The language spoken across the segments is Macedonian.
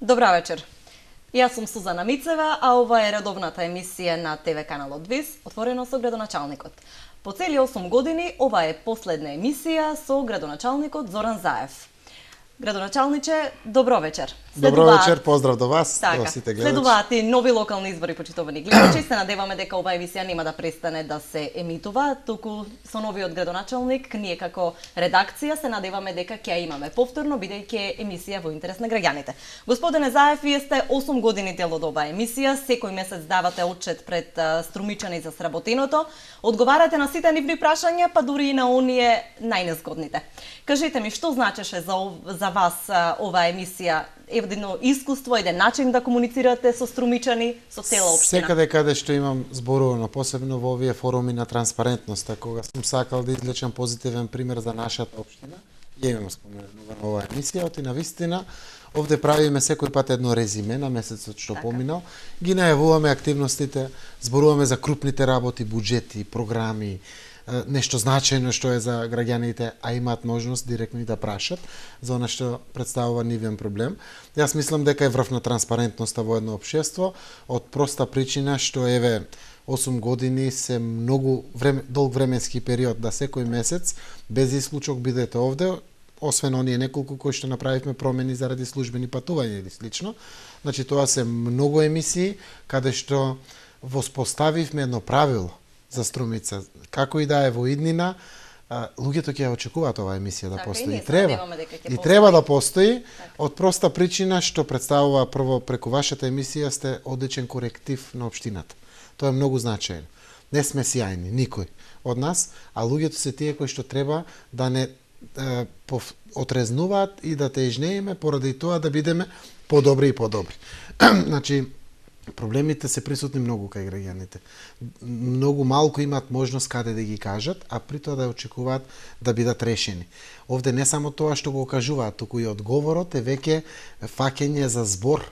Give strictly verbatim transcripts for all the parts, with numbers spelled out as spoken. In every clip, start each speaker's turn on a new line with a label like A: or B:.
A: Добра вечер. Јас сум Сузана Мицева, а ова е редовната емисија на те ве каналот ВИС, отворено со градоначалникот. По цели осум години, ова е последна емисија со градоначалникот Зоран Заев. Градоначалниче, добро вечер.
B: Добро вечер, поздрав до вас,
A: така,
B: до сите гледачи.
A: Следуваат и нови локални избори, почитувани гледачи. Се надеваме дека оваа емисија нема да престане да се емитува, туку со новиот градоначалник, ние како редакција се надеваме дека ќе ја имаме повторно, бидејќи е емисија во интерес на граѓаните. Господине Заев, вие сте осум години дел од оваа емисија, секој месец давате отчет пред струмичани за сработеното, одговарате на сите нивни прашања, па дури и на оние најнезгодните. Кажете ми, што значеше за, за вас оваа емисија? Едно искуство, еден начин да комуницирате со струмичани, со цела општина?
B: Секаде каде што имам зборувано, посебно во овие форуми на транспарентноста, кога сум сакал да извлечам позитивен пример за нашата општина, ја имам споменува на оваа емисија, оти на вистина, овде правиме секој пат едно резиме на месецот што така поминал, ги најавуваме активностите, зборуваме за крупните работи, буџети, програми, нешто значајно што е за граѓаните, а имаат можност директно и да прашат за она што представува нивен проблем. Јас мислам дека е врв на транспарентноста во едно општество, од проста причина што еве осум години се многу време, долг временски период да секој месец без исклучок бидете овде, освен оние неколку кои што направивме промени заради службени патувања или слично. Значи тоа се многу емисии каде што воспоставивме едно правило за Струмица. Како и да е во иднина, луѓето ќе ја очекуваат оваа емисија да
A: така,
B: постои.
A: И,
B: и треба. И
A: постои.
B: треба да постои,
A: така.
B: Од проста причина што представува прво преку вашата емисија сте одличен коректив на општината. Тоа е многу значајно. Не сме сјајни, никој од нас, а луѓето се тие кои што треба да не е, пов, отрезнуваат и да тежнееме поради тоа да бидеме подобри и подобри. Значи, проблемите се присутни многу кај граѓаните. Многу малку имаат можност каде да ги кажат, а при тоа да очекуваат да бидат решени. Овде не само тоа што го кажуваат, туку и одговорот е веќе фаќење за збор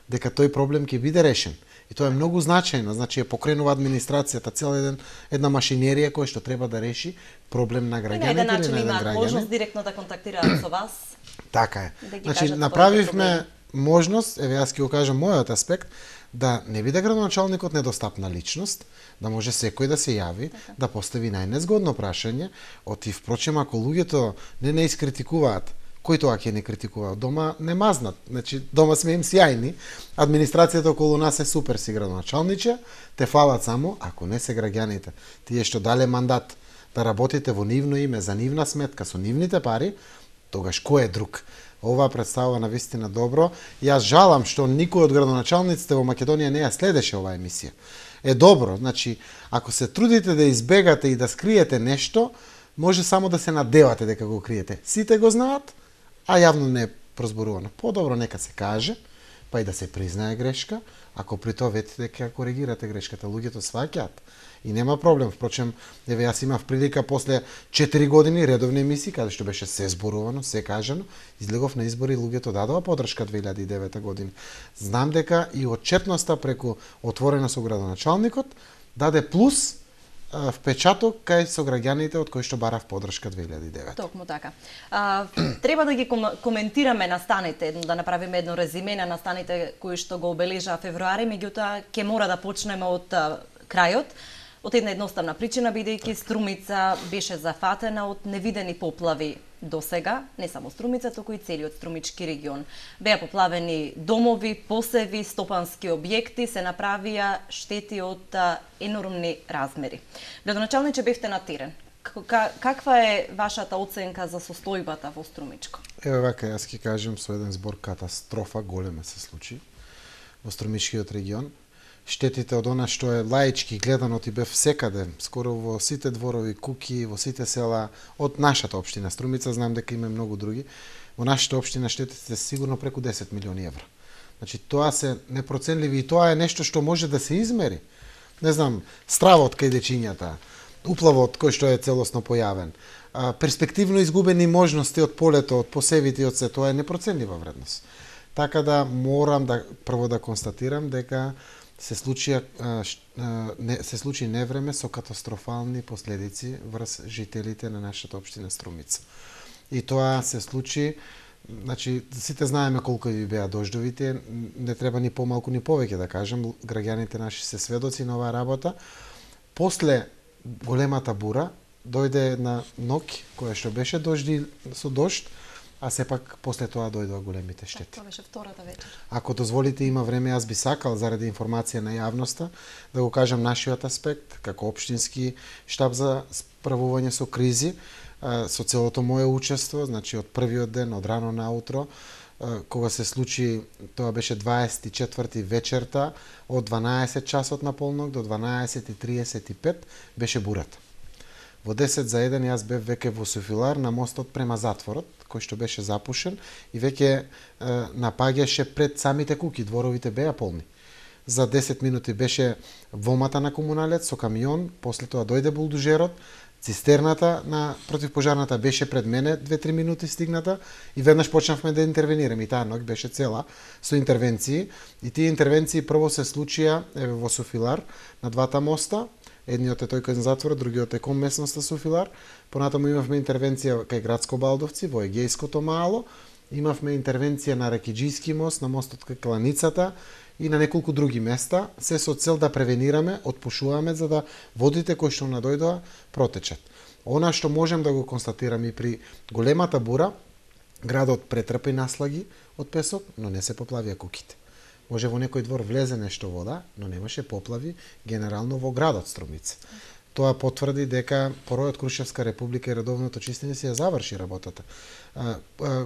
B: дека тој проблем ќе биде решен. И тоа е многу значајно, значи е покренува администрацијата цела еден, една машинерија која што треба да реши проблем на граѓаните.
A: И на еден начин
B: на
A: имаат
B: граѓани.
A: можност директно да контактираат со вас.
B: Така е.
A: Да
B: значи направивме можност, еве јас ќе го кажам мојот аспект, да не биде градоначалникот недостапна личност, да може секој да се јави, така, да постави најнезгодно прашање, оти впрочем ако луѓето не не искритикуваат, кој тоа ќе не критикуваат? Дома не мазнат, значи дома сме им сјајни, администрацијата околу нас е супер си градоначалниче, те фалат само ако не се граѓаните. Тие што дале мандат да работите во нивно име, за нивна сметка, со нивните пари, тогаш кој е друг? Ова представува на вистина добро. Јас жалам што никој од градоначалниците во Македонија не ја следеше оваа емисија. Е добро, значи, ако се трудите да избегате и да скриете нешто, може само да се надевате дека го криете. Сите го знаат, а јавно не е прозборувано. Подобро нека се каже, па и да се признае грешка, ако при тоа ветите дека коригирате грешката, луѓето сваќаат. И нема проблем, впрочем, еве јас имав прилика после четири години редовни емисии, каде што беше се зборувано, се кажано, излегов на избори и луѓето дадоа подршка две илјади и девета година. Знам дека и отчетноста преку отворено со градоначалникот даде плюс а, впечаток кај со граѓаните од кои што барав подршка две илјади и девета.
A: Токму така. А, треба да ги ком коментираме настаните, да направиме едно резиме на настаните кои што го обележаа февруари, меѓутоа ќе мора да почнеме од а, крајот. Од една едноставна причина, бидејќи Струмица беше зафатена од невидени поплави досега, не само Струмица, туку и целиот Струмички регион. Беа поплавени домови, посеви, стопански објекти, се направија штети од а, енормни размери. Градоначалниче, бевте на терен. Каква е вашата оценка за состојбата во Струмичко?
B: Еве вака, јас ќе кажам со еден збор, катастрофа голема се случи во Струмичкиот регион. Штетите од она што е лаички гледано ти бев секаде, скоро во сите дворови, куки, во сите села од нашата општина Струмица, знам дека има многу други. Во нашата општина штетите се сигурно преку десет милиони евра. Значи тоа се непроценливи и тоа е нешто што може да се измери. Не знам, стравот кај дечињата, уплавот кој што е целосно појавен, перспективно изгубени можности од полето, од посевите и од се, тоа е непроценлива вредност. Така да морам да прво да констатирам дека се случи се случи невреме со катастрофални последици врз жителите на нашата општина Струмица. И тоа се случи Значи, сите знаеме колку ви беа дождовите, не треба ни помалку ни повеќе да кажем, граѓаните наши се сведоци на оваа работа. После големата бура дојде една ноќ која што беше дожди со дожд, а сепак после тоа дојдоа големите штети.
A: Тоа беше втората вечер.
B: Ако дозволите, има време, јас би сакал заради информација на јавноста да го кажам нашиот аспект како општински штаб за справување со кризи, со целото моје учество, значи од првиот ден, од рано наутро, кога се случи, тоа беше дваесет и четврти вечерта, од дванаесет часот на полнок до дванаесет и триесет и пет беше бурата. Во десет за еден јас бев веќе во Софилар на мостот према затворот, кој што беше запушен и веќе напаѓаше пред самите куќи, дворовите беа полни. За десет минути беше вомата на комуналец со камион, после тоа дојде булдужерот, цистерната на противпожарната беше пред мене, две-три минути стигната и веднаш почнавме да интервенираме. И таа ноќ беше цела со интервенции. И тие интервенции прво се случија еве во Софилар на двата моста. Едниот е тој кај затворот, другиот е кон местноста Софилар. Понатаму имавме интервенција кај Градско Балдовци, во Егејското мало. Имавме интервенција на Ракиџијски мост, на мостот кај Кланицата и на неколку други места, се со цел да превенираме, отпушуваме за да водите кои што надојдоа протечат. Она што можем да го констатираме и при големата бура, градот претрпи наслаги од песок, но не се поплавија куќите. Може во некој двор влезе нешто вода, но немаше поплави генерално во градот Струмица. Тоа потврди дека поројот Крушевска република и редовното чистење се ја заврши работата.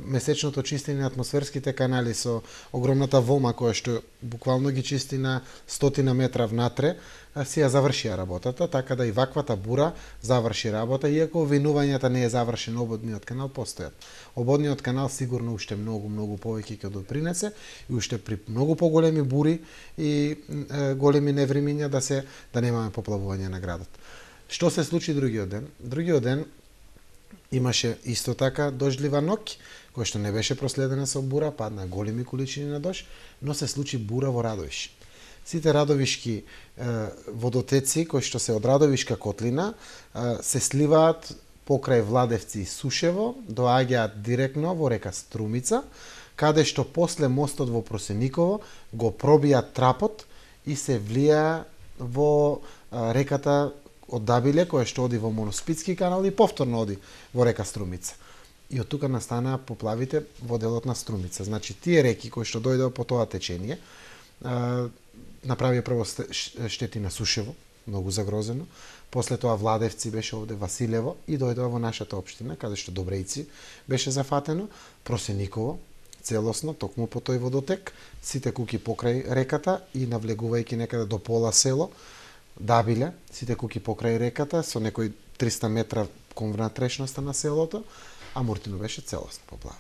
B: Месечното чистење на атмосферските канали со огромната вома која што буквално ги чисти на стотина метра внатре, се ја завршија работата, така да и ваквата бура заврши работа, иако винувањата не е завршен ободниот канал постојат. Ободниот канал сигурно уште многу, многу повеќе ќе допринесе и уште при многу поголеми бури и е, големи невремиња да се да немаме поплавување на градот. Што се случи другиот ден? Другиот ден имаше исто така дождлива ноќ, која што не беше проследена со бура, падна големи количини на дожд, но се случи бура во Радовиш. Сите радовишки е, водотеци кои што се од Радовишка котлина е, се сливаат покрај Владевци и Сушево, доаѓаат директно во река Струмица, каде што после мостот во Просениково го пробијат трапот и се влија во е, реката од Дабиле, која што оди во Моноспитски канал и повторно оди во река Струмица. И од тука настанаа поплавите во делот на Струмица. Значи, тие реки кои што дојдоа по тоа течение, направија прво штети на Сушево, многу загрозено, после тоа Владевци беше овде, Василево и дојдоа во нашата општина, каде што Добрејци беше зафатено, Просениково, целосно, токму по тој водотек, сите куќи покрај реката и навлегувајќи некаде до пола село, Дабиле, сите куќи покрај реката, со некои триста метра кон внатрешноста на селото, а Муртино беше целосно поплавен.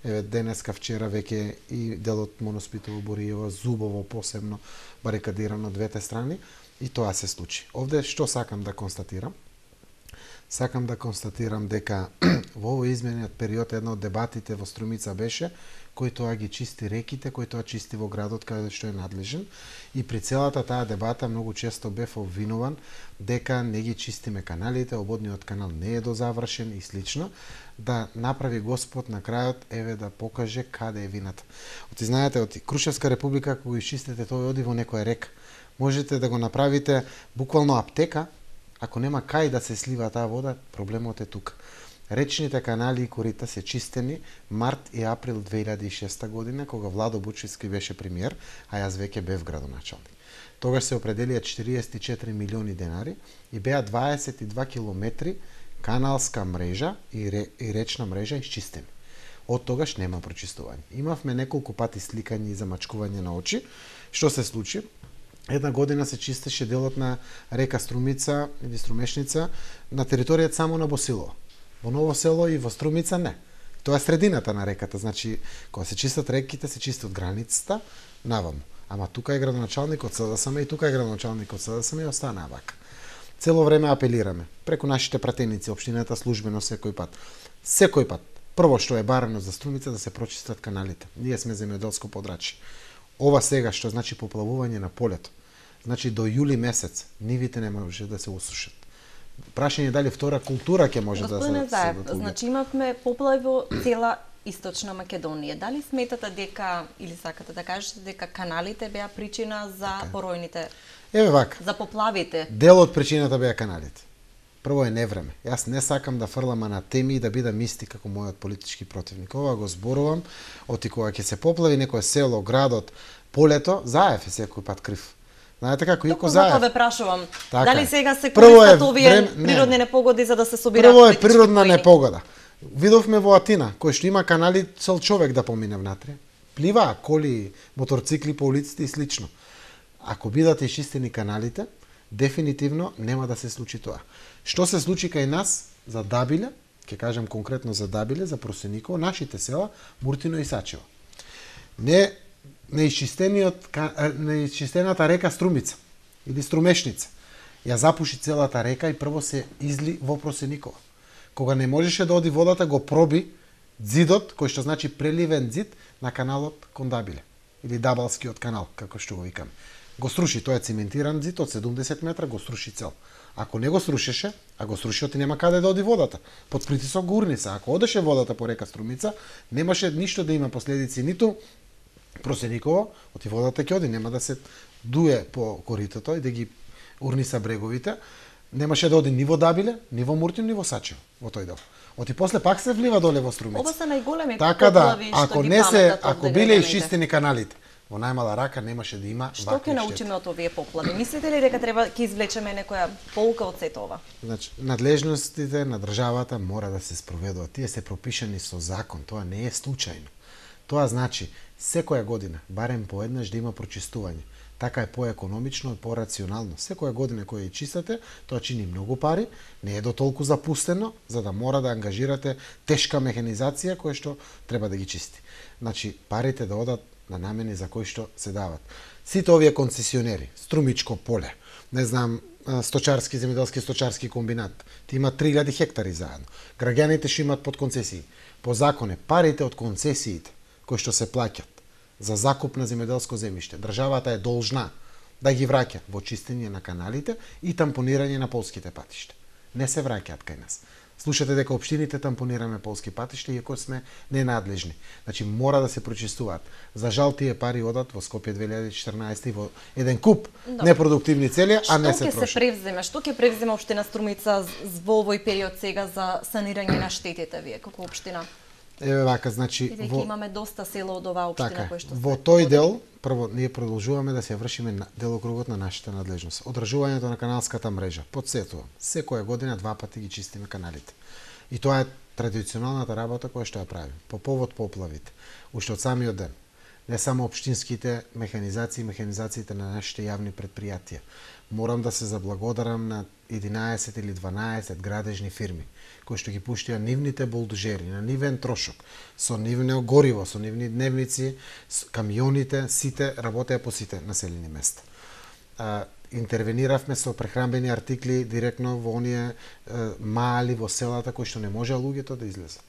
B: Еве, денеска, вчера, веќе и делот Моноспитово, Боријево, Зубово посебно барикадирано двете страни и тоа се случи. Овде што сакам да констатирам? Сакам да констатирам дека во овој измениот период една од дебатите во Струмица беше кој тоа ги чисти реките, кој тоа чисти во градот каде што е надлежен. И при целата таа дебата многу често бев обвинуван дека не ги чистиме каналите, ободниот канал не е дозавршен и слично, да направи Господ на крајот, еве да покаже каде е вината. Оти знаете, од Крушевска република, кога изчистите тој оди во некоја река, можете да го направите буквално аптека, ако нема кај да се слива таа вода, проблемот е тука. Речните канали и корита се чистени март и април две илјади и шеста година, кога Владо Бучевски беше премиер, а јас веќе бев градоначалник. Тогаш се определија четириесет и четири милиони денари и беа дваесет и два километри каналска мрежа и, ре, и речна мрежа исчистени. Од тогаш нема прочистување. Имавме неколку пати сликање и замачкување на очи. Што се случи? Една година се чистеше делот на река Струмица или Струмешница на територијата само на Босилово. Во Ново село и во Струмица не. Тоа е средината на реката, значи кога се чистат реките, се чисти од границата наваму. Ама тука е градоначалникот СДСМ и тука е градоначалникот СДСМ и остана вака. Цело време апелираме преку нашите пратеници, општината службено секој пат. Секој пат. Прво што е барано за Струмица да се прочистат каналите. Ние сме земјоделско подрачје. Ова сега што значи поплавување на полето. Значи до јули месец нивите не може да се усушат. Прашање дали втора култура ќе може да се
A: Заев, значи имавме поплави во цела Источна Македонија. Дали сметате дека, или сакате да кажете дека каналите беа причина за
B: така.
A: поројните,
B: Еве вака.
A: за поплавите?
B: Дел од причината беа каналите. Прво е невреме. Јас не сакам да фрлам на теми и да бидам исти како мојот политички противник. Ова го зборувам, оти кога ќе се поплави некое село, градот, полето, Заев е секој пат крив. Знаете како Јуко Заев.
A: Тоа ве прашувам.
B: Така
A: Дали
B: е.
A: сега се
B: Прво е
A: користат овие
B: време- не.
A: природни непогоди за да се собираат
B: Прво е
A: политички
B: природна
A: поени?
B: непогода. Видовме во Атина, кој што има канали, цел човек да помине внатре. Пливаа коли, моторцикли по улиците и слично. Ако бидат исчистени каналите, дефинитивно нема да се случи тоа. Што се случи кај нас за Дабиле, ќе кажам конкретно за Дабиле, за Просениково, нашите села, Муртино и Сачево. Не неисчистениот ка- неисчистената река Струмица или Струмешница ја запуши целата река и прво се изли во Просениково. Кога не можеше да оди водата, го проби ѕидот, кој што значи преливен ѕид на каналот кон Дабиле или Дабалскиот канал, како што го викаме. Го сруши, тоа е циментиран ѕид од седумдесет метра, го сруши цел. Ако не го срушеше, а го сруши, оти нема каде да оди водата. Под притисок го урни се. Ако одеше водата по река Струмица, немаше ништо да има последици, ниту Просениково, оти водата ќе оди, нема да се дуе по коритото и да ги урниса бреговите, немаше да оди ни во Дабиле, ни во Муртино, ни во Сачево, во тој дел. Оти после пак се влива доле во Струмица.
A: Ова се најголеми
B: Така да,
A: поплави што
B: ако
A: ги
B: не се,
A: паметат
B: ако
A: овде
B: биле
A: граѓаните.
B: исчистени каналите, во најмала рака немаше да има
A: Што
B: вакви
A: ќе
B: штети.
A: научиме од овие поплави? Мислите ли дека треба ќе извлечеме некоја полука од сето ова?
B: Значи, надлежностите на државата мора да се спроведуваат. Тие се пропишани со закон, тоа не е случајно. Тоа значи секоја година, барем поеднаш да има прочистување. Така е поекономично и порационално. Секоја година која ја чистате, тоа чини многу пари, не е до толку запустено, за да мора да ангажирате тешка механизација која што треба да ги чисти. Значи, парите да одат на намени за кои што се дават. Сите овие концесионери, Струмичко поле, не знам, сточарски, земјоделски сточарски комбинат, ти има три илјади хектари заедно. Граѓаните што имат под концесии. По законе, парите од концесиите кои што се плаќат за закуп на земјоделско земјиште, државата е должна да ги враќа во чистење на каналите и тампонирање на полските патишта. Не се враќаат кај нас. Слушате дека општините тампонираме полски патишта иако сме ненадлежни. Значи мора да се прочистуваат. За жал тие пари одат во Скопје две илјади и четрнаесета и во еден куп
A: Добре.
B: непродуктивни цели, а не се
A: Што ќе
B: трошат.
A: се превземе? Што ќе превземе општина Струмица з- во овој период сега за санирање на штетите вие како општина?
B: Еве вака, значи
A: И дека
B: во
A: имаме доста села од оваа општина
B: така,
A: кои што
B: во
A: се
B: тој
A: погодени.
B: дел прво ние продолжуваме да се вршиме на делокругот на нашата надлежност. Одржувањето на каналската мрежа. Потсетувам, секоја година два пати ги чистиме каналите. И тоа е традиционалната работа која што ја правим. По повод поплавите, уште од самиот ден. Не само општинските механизации и механизациите на нашите јавни предпријатија. Морам да се заблагодарам на единаесет или дванаесет градежни фирми кои што ги пуштија нивните булдожери на нивен трошок, со нивно гориво, со нивни дневници, с камионите, сите работеа по сите населени места. А, интервениравме со прехранбени артикли директно во оние е, мали во селата кои што не можеа луѓето да излезат.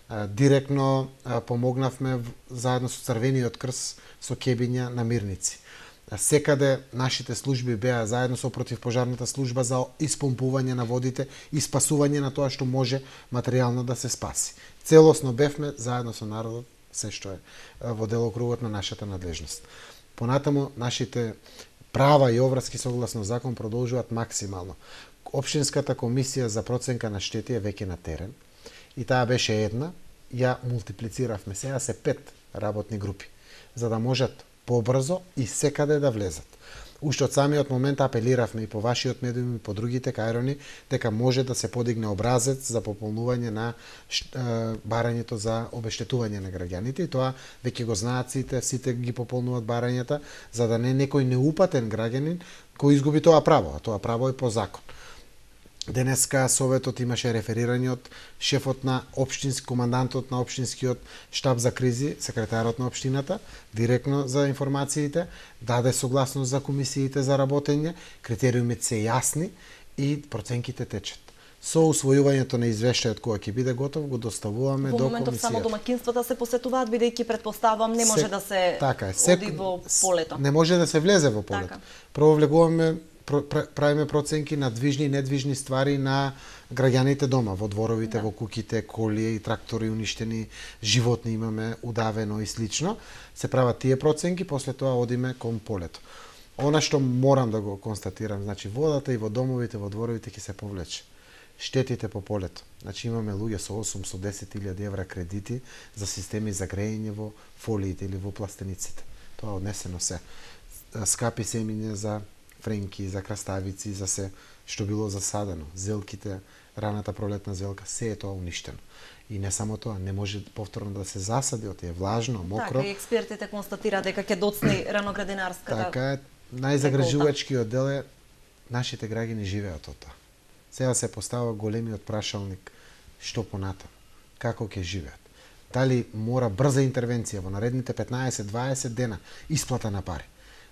B: А, директно а, помогнавме в- заедно со Црвениот крст со кебиња на мирници. А, секаде нашите служби беа заедно со противпожарната служба за испомпување на водите и спасување на тоа што може материјално да се спаси. Целосно бевме заедно со народот се што е а, во делокругот на нашата надлежност. Понатаму нашите права и обврски согласно закон продолжуваат максимално. Општинската комисија за проценка на штети е веќе на терен и таа беше една, ја мултиплициравме, сега се пет работни групи, за да можат побрзо и секаде да влезат. Уште од самиот момент апелиравме и по вашиот медиум и по другите кајрони дека може да се подигне образец за пополнување на ш- е, барањето за обештетување на граѓаните и тоа веќе го знаат сите, сите ги пополнуваат барањата за да не некој неупатен граѓанин кој изгуби тоа право, а тоа право е по закон. Денеска Советот имаше реферирање од шефот на општински, командантот на општинскиот штаб за кризи, секретарот на општината, директно за информациите, даде согласност за комисиите за работење, критериумите се јасни и проценките течат. Со усвојувањето на извештајот кој ќе биде готов, го доставуваме
A: Во
B: до
A: моментов само
B: комисијата.
A: домакинствата се посетуваат бидејќи претпоставам не може
B: Се-
A: да се
B: така е,
A: оди
B: сек-
A: во
B: с-
A: полето.
B: Не може да се влезе во полето.
A: Така.
B: Прво влегуваме правиме проценки на движни и недвижни ствари на граѓаните дома, во дворовите, да. Во куќите, коли и трактори уништени, животни имаме удавено и слично. Се прават тие проценки, после тоа одиме кон полето. Она што морам да го констатирам, значи водата и во домовите, во дворовите ќе се повлече. Штетите по полето. Значи имаме луѓе со осум, со десет илјади евра кредити за системи за грејење во фолиите или во пластениците. Тоа однесено се. Скапи семиња за френки, за краставици, за се што било засадено. Зелките, раната пролетна зелка, се е тоа уништено. И не само тоа, не може повторно да се засади, оти е влажно, мокро.
A: Така, и експертите констатираат дека ќе доцни раноградинарската.
B: Така е, најзагрижувачкиот дел е нашите граѓани живеат од тоа. Сега се постава големиот прашалник што понатаму, како ќе живеат. Дали мора брза интервенција во наредните петнаесет до дваесет дена, исплата на пари,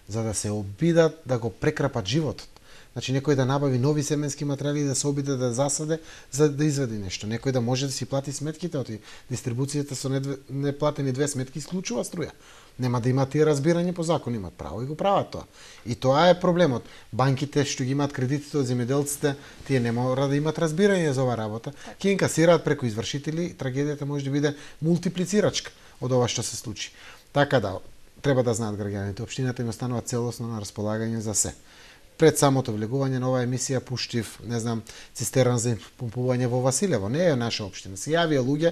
B: за да се обидат да го прекрапат животот. Значи некој да набави нови семенски материјали и да се обиде да засаде за да извади нешто. Некој да може да си плати сметките од дистрибуцијата со неплатени две сметки исклучува струја. Нема да имат тие разбирање по закон, имат право и го прават тоа. И тоа е проблемот. Банките што ги имаат кредитите од земјоделците, тие не мора да имат разбирање за оваа работа. Ќе инкасираат преку извршители, трагедијата може да биде мултиплицирачка од ова што се случи. Така да, треба да знаат граѓаните, општината им останува целосно на располагање за се. Пред самото влегување на оваа емисија пуштив, не знам, цистерна за помпување во Василево. Не е наша општина. Се јавија луѓе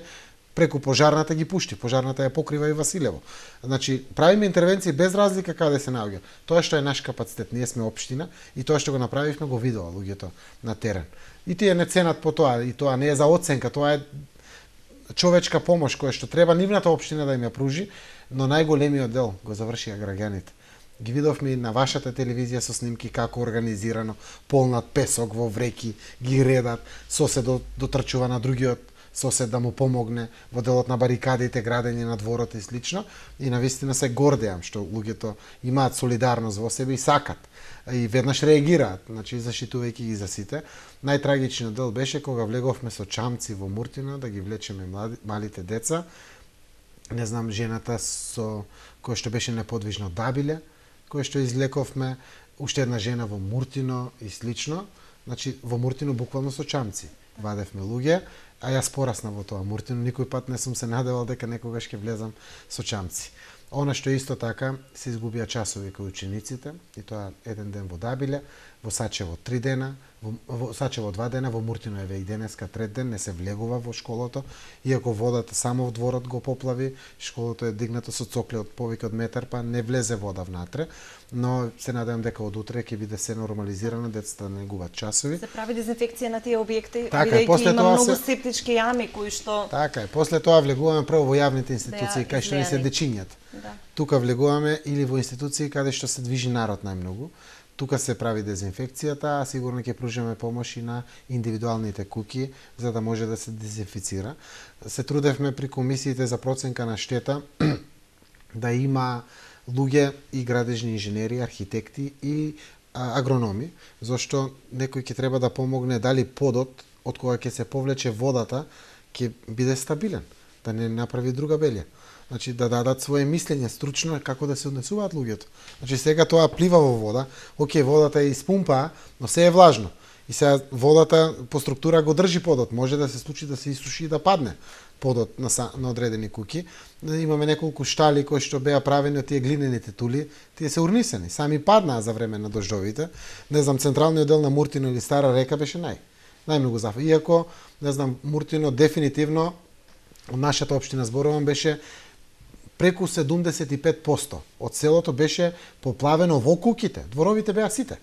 B: преку пожарната ги пушти. Пожарната ја покрива и Василево. Значи, правиме интервенции без разлика каде се наоѓа. Тоа што е наш капацитет, ние сме општина и тоа што го направивме го видува луѓето на терен. И тие не ценат по тоа, и тоа не е за оценка, тоа е човечка помош која што треба нивната општина да им ја пружи, но најголемиот дел го завршија граѓаните. Ги видовме и на вашата телевизија со снимки како организирано, полнат песок во вреки, ги редат, сосед дотрчува на другиот сосед да му помогне во делот на барикадите, градење на дворот и слично. И навистина се гордеам што луѓето имаат солидарност во себе и сакат. И веднаш реагираат, значи заштитувајќи ги за сите. Најтрагичниот дел беше кога влеговме со чамци во Муртино да ги влечеме млади, малите деца. Не знам, жената со која што беше неподвижно дабиле, кој што излековме, уште една жена во Муртино и слично. Значи, во Муртино буквално со чамци вадевме луѓе, а јас порасна во тоа Муртино, никој пат не сум се надевал дека некогаш ќе влезам со чамци. Она што исто така се изгубија часови кај учениците, и тоа еден ден во Дабиле, во Сачево три дена, во, во Сачево два дена, во Муртино еве и денеска трет ден не се влегува во школото, иако водата само во дворот го поплави, школото е дигнато со цокле од повеќе од метар, па не влезе вода внатре, но се надевам дека од утре ќе биде се нормализирано, децата не губат часови.
A: Се прави дезинфекција на тие објекти,
B: така,
A: бидејќи има многу
B: се...
A: септички јами кои што...
B: Така е, после тоа влегуваме прво во јавните институции, да, кај што не се дечињат.
A: Да.
B: Тука влегуваме или во институции каде што се движи народ најмногу. Тука се прави дезинфекцијата, а сигурно ќе пружиме помош и на индивидуалните куќи за да може да се дезинфицира. Се трудевме при комисиите за проценка на штета да има луѓе и градежни инженери, архитекти и а, агрономи, зашто некој ќе треба да помогне дали подот од кога ќе се повлече водата ќе биде стабилен, да не направи друга белја. Значи да дадат свое мислење стручно како да се однесуваат луѓето. Значи сега тоа плива во вода, окей, водата е испумпаа, но се е влажно. И сега водата по структура го држи подот, може да се случи да се исуши и да падне подот на, на одредени куќи. Имаме неколку штали кои што беа правени од тие глинените тули, тие се урнисани, сами паднаа за време на дождовите. Не знам, централниот дел на Муртино или Стара Река беше нај најмногу зафа. Иако, не знам, Муртино дефинитивно од нашата општина зборувам беше преку седумдесет и пет проценти од селото беше поплавено во куќите. Дворовите беа сите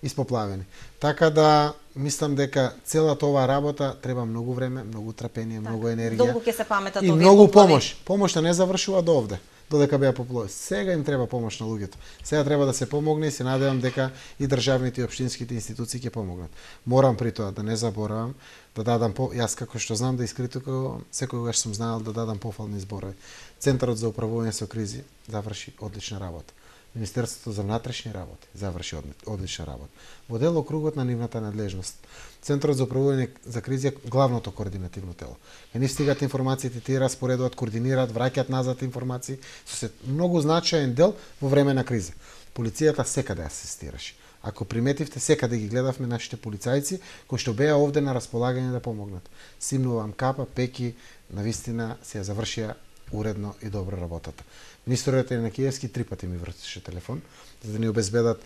B: испоплавени. Така да мислам дека целата оваа работа треба многу време, многу трпение, така, многу енергија.
A: Долго ќе се паметат
B: и
A: овие
B: многу
A: поплави.
B: помош. Помошта не завршува до овде, додека беа поплави. Сега им треба помош на луѓето. Сега треба да се помогне и се надевам дека и државните и општинските институции ќе помогнат. Морам при тоа да не заборавам да дадам по јас како што знам да искритикувам, секогаш сум знаел да дадам пофални зборови. Центарот за управување со кризи заврши одлична работа. Министерството за внатрешни работи заврши одлична работа. Во делокругот на нивната надлежност. Центарот за управување за кризи е главното координативно тело. Кај нив стигат информациите, тие распоредуваат, координираат, враќаат назад информации, со се многу значаен дел во време на криза. Полицијата секаде асистираше. Ако приметивте, секаде ги гледавме нашите полицајци кои што беа овде на располагање да помогнат. Симнувам капа, пеки, навистина се ја завршија уредно и добро работата. Министерот на Киевски три пати ми вртеше телефон за да ни обезбедат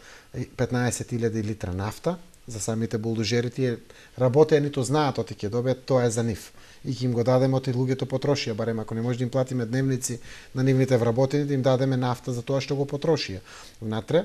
B: петнаесет илјади литра нафта за самите булдожери. Тие работеа, ниту знаат оти ќе добијат, тоа е за нив. И ќе им го дадеме оти луѓето потрошија, барем ако не може да им платиме дневници на нивните вработени, да им дадеме нафта за тоа што го потрошија. Внатре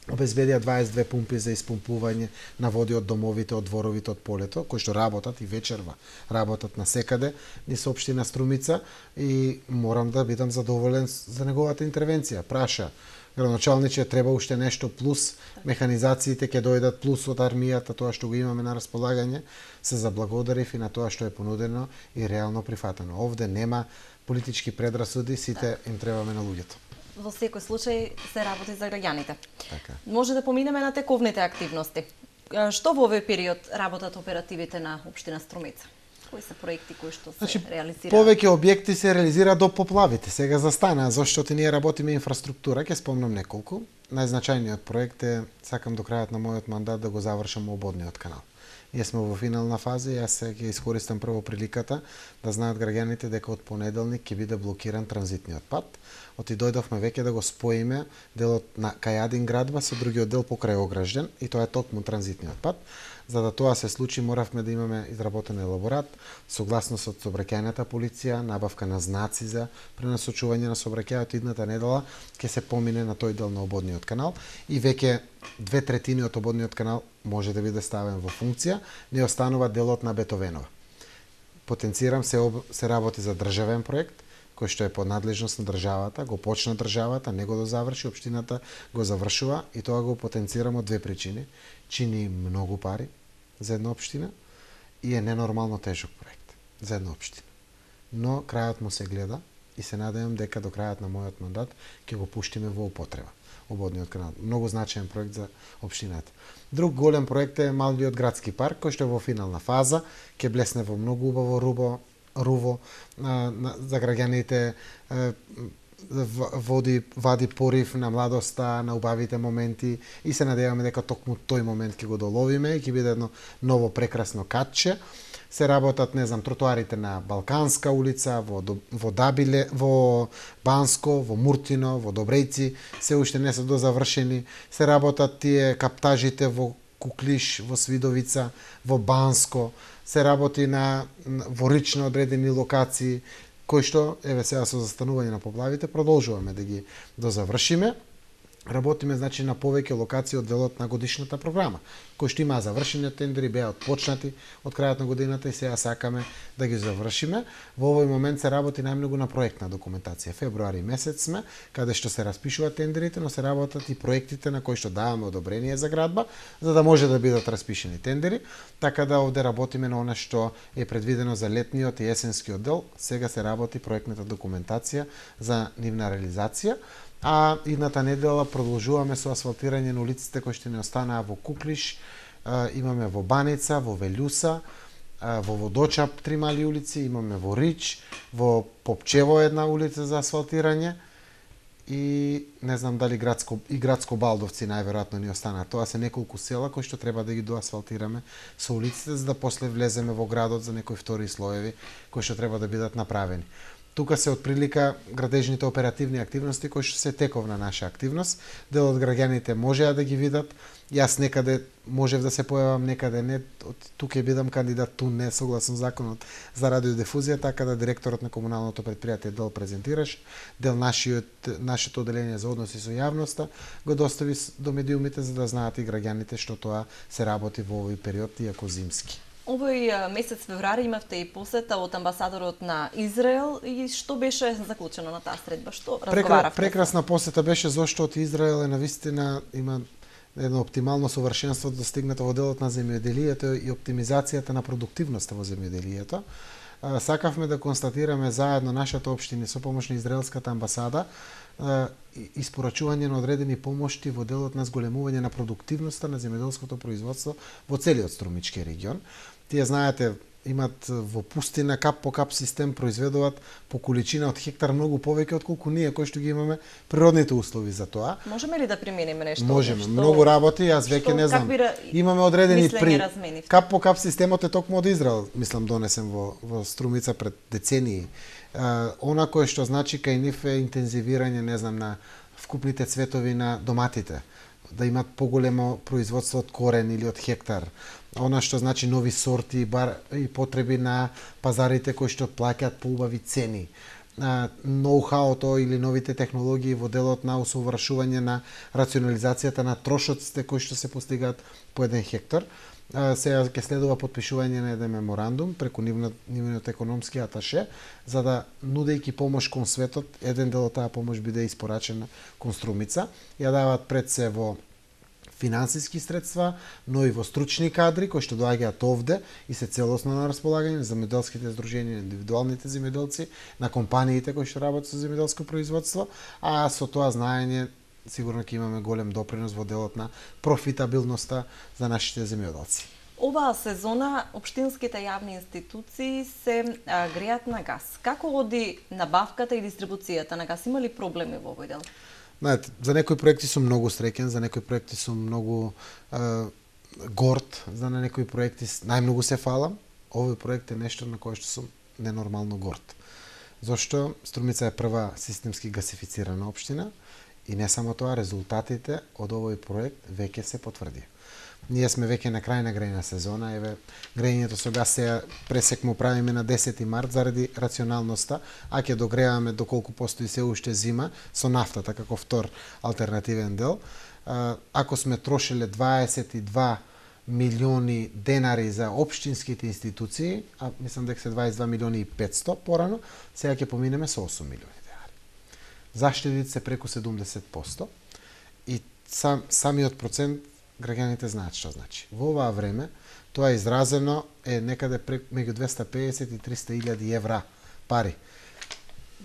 B: обезбедија дваесет и две пумпи за испумпување на води од домовите, од дворовите, од полето, кои што работат и вечерва, работат на секаде, ни се општина Струмица и морам да бидам задоволен за неговата интервенција. Праша градоначалниче, треба уште нешто плюс, механизациите ќе дојдат плюс од армијата, тоа што го имаме на располагање, се заблагодарив и на тоа што е понудено и реално прифатено. Овде нема политички предрасуди, сите им требаме на луѓето.
A: Во секој случај се работи за граѓаните.
B: Така.
A: Може да поминеме на тековните активности. Што во овој период работат оперативите на општина Струмица? Кои се проекти кои што се
B: значи,
A: реализираат?
B: Повеќе објекти се реализираат до поплавите. Сега застана, зашто ние работиме инфраструктура, ќе спомнам неколку. Најзначајниот проект е, сакам до крајот на мојот мандат да го завршам ободниот канал. Ние сме во финална фаза и јас ќе искористам прво приликата да знаат граѓаните дека од понеделник ќе биде блокиран транзитниот пат. Оти дојдовме веќе да го споиме делот на Кајадин градба со другиот дел покрај Огражден и тоа е токму транзитниот пат. За да тоа се случи, моравме да имаме изработен елаборат, согласност од сообраќајната полиција, набавка на знаци за пренасочување на сообраќајот. Идната недела ќе се помине на тој дел на ободниот канал и веќе две третини од ободниот канал може да биде ставен во функција, не останува делот на Бетовенова. Потенцирам се, об... се работи за државен проект, кој што е под надлежност на државата, го почна државата, не го дозаврши, општината го завршува и тоа го потенцирам од две причини. Чини многу пари за една општина и е ненормално тежок проект за една општина. Но крајот му се гледа и се надевам дека до крајот на мојот мандат ќе го пуштиме во употреба. Ободниот канал. Многу значаен проект за општината. Друг голем проект е малиот градски парк, кој што е во финална фаза, ќе блесне во многу убаво рубо, руво а, на, за граѓаните, а, води, вади порив на младоста, на убавите моменти и се надеваме дека токму тој момент ќе го доловиме и ќе биде едно ново прекрасно катче. Се работат, не знам, тротоарите на Балканска улица, во, во Дабиле, во Банско, во Муртино, во Добрејци, се уште не се дозавршени. Се работат тие каптажите во Куклиш, во Свидовица, во Банско. Се работи на во рично одредени локации, кои што, еве сега со застанување на поплавите, продолжуваме да ги дозавршиме. Работиме, значи, на повеќе локации од делот на годишната програма, кои што имаа завршени тендери, беа отпочнати од крајот на годината и сега сакаме да ги завршиме. Во овој момент се работи најмногу на проектна документација. Февруари месец сме, каде што се распишуваат тендерите, но се работат и проектите на кои што даваме одобрение за градба, за да може да бидат распишени тендери. Така да овде работиме на она што е предвидено за летниот и есенскиот дел. Сега се работи проектната документација за нивна реализација. А идната недела продолжуваме со асфалтирање на улиците кои што не останаа во Куклиш, имаме во Баница, во Велјуса, во Водочап три мали улици, имаме во Рич, во Попчево една улица за асфалтирање и не знам дали градско и градско Балдовци најверојатно ни останаа. Тоа се неколку села кои што треба да ги доасфалтираме со улиците за да после влеземе во градот за некои втори слоеви кои што треба да бидат направени. Тука се отприлика градежните оперативни активности кои што се тековна наша активност. Дел од граѓаните можеа да ги видат. Јас некаде можев да се појавам, некаде не. Тука ќе бидам кандидат, ту не согласно законот за радиодифузија, така да директорот на комуналното предпријатие дел презентираш, дел нашиот нашето оделение за односи со јавноста го достави до медиумите за да знаат и граѓаните што тоа се работи во овој период, иако зимски.
A: Овој месец февруари имавте и посета од амбасадорот на Израел и што беше заклучено на таа средба? Што разговаравте?
B: Прекрасна посета беше зашто од Израел е навистина има едно оптимално совршенство достигнато во делот на земјоделието и оптимизацијата на продуктивноста во земјоделието. Сакавме да констатираме заедно нашата општина со помош на израелската амбасада испорачување на одредени помошти во делот на зголемување на продуктивноста на земјоделското производство во целиот Струмички регион. Тие знаете, имат во пустина кап по кап систем, произведуваат по количина од хектар многу повеќе отколку ние кои што ги имаме природните услови за тоа.
A: Можеме ли да примениме нешто?
B: Можеме,
A: што,
B: многу работи, јас веќе не знам. Имаме одредени при
A: разменив?
B: Кап по кап системот е токму од Израел, мислам донесен во во Струмица пред децении. Uh, она кое што значи кај нив е интензивирање, не знам, на вкупните цветови на доматите, да имат поголемо производство од корен или од хектар. Она што значи нови сорти бар, и потреби на пазарите кои што плаќаат поубави цени. Uh, ноу-хауто или новите технологии во делот на усовршување на рационализацијата на трошоците кои што се постигаат по еден хектар. Uh, сега ќе следува подпишување на еден меморандум преку нивниот економски аташе, за да, нудејќи помош кон светот, еден дел од таа помош биде испорачена кон Струмица. Ја даваат пред се во финансиски средства, но и во стручни кадри кои што доаѓаат овде и се целосно на располагање на земјоделските здруженија, индивидуалните земјоделци, на компаниите кои што работат со земјоделско производство, а со тоа знаење сигурно ќе имаме голем допринос во делот на профитабилноста за нашите земјоделци.
A: Оваа сезона општинските јавни институции се а, греат на газ. Како оди набавката и дистрибуцијата на газ? Има ли проблеми во овој дел?
B: Знаете, за некои проекти сум многу среќен, за некои проекти сум многу е, горд, за на некои проекти најмногу се фалам. Овој проект е нешто на кое што сум ненормално горд. Зошто Струмица е прва системски гасифицирана општина и не само тоа, резултатите од овој проект веќе се потврди. Ние сме веќе на крај на грејна сезона, еве грејењето со газ се пресек му правиме на десети март заради рационалноста, а ќе догреаваме доколку постои се уште зима со нафтата како втор алтернативен дел. Ако сме трошеле дваесет и два милиони денари за општинските институции, а мислам дека се дваесет и два милиони и петсто порано, сега ќе поминеме со осум милиони денари. Заштедите се преку седумдесет проценти и сам, самиот процент граѓаните знаат што значи. Во оваа време тоа е изразено е некаде меѓу двеста и педесет и триста илјади евра пари.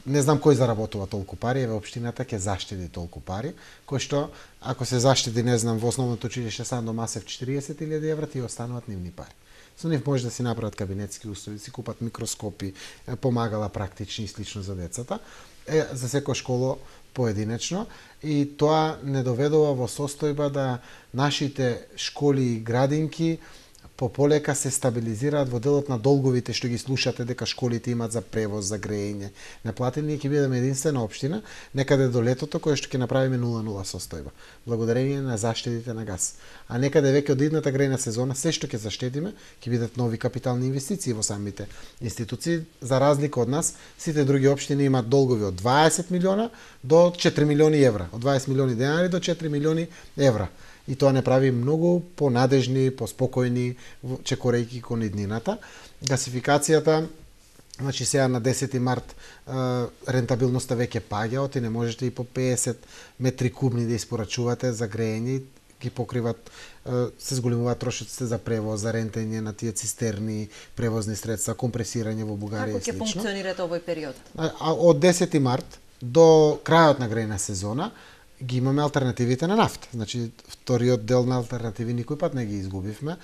B: Не знам кој заработува толку пари, еве општината ќе заштеди толку пари, кој што ако се заштеди, не знам, во основното училиште Сандо Масев четириесет илјади евра, тие остануваат нивни пари. Со нив може да си направат кабинетски услови, си купат микроскопи, помагала практични и слично за децата, е, за секоја школа поединечно, и тоа не доведува во состојба да нашите школи и градинки пополека се стабилизираат во делот на долговите што ги слушате дека школите имаат за превоз, за грејење. Неплатени, ние ќе бидеме единствена општина некаде до летото кој што ќе направиме нула нула состојба, благодарение на заштедите на газ. А некаде веќе од идната грејна сезона се што ќе заштедиме ќе бидат нови капитални инвестиции во самите институции. За разлика од нас, сите други општини имаат долгови од дваесет милиона до четири милиони евра, од дваесет милиони денари до четири милиони евра. И тоа не прави многу понадежни, поспокојни, чекорејќи кон иднината. Гасификацијата, значи сега на десети март рентабилноста веќе паѓа, оти не можете и по педесет метри кубни да испорачувате за грејење, ги покриват, се зголемуваат трошоците за превоз, за рентење на тие цистерни, превозни средства, компресирање во Бугарија и слично.
A: Како ќе функционирате овој период?
B: А од десети март до крајот на грејна сезона ги имаме алтернативите на нафта. Значи, вториот дел на алтернативи никој пат не ги изгубивме.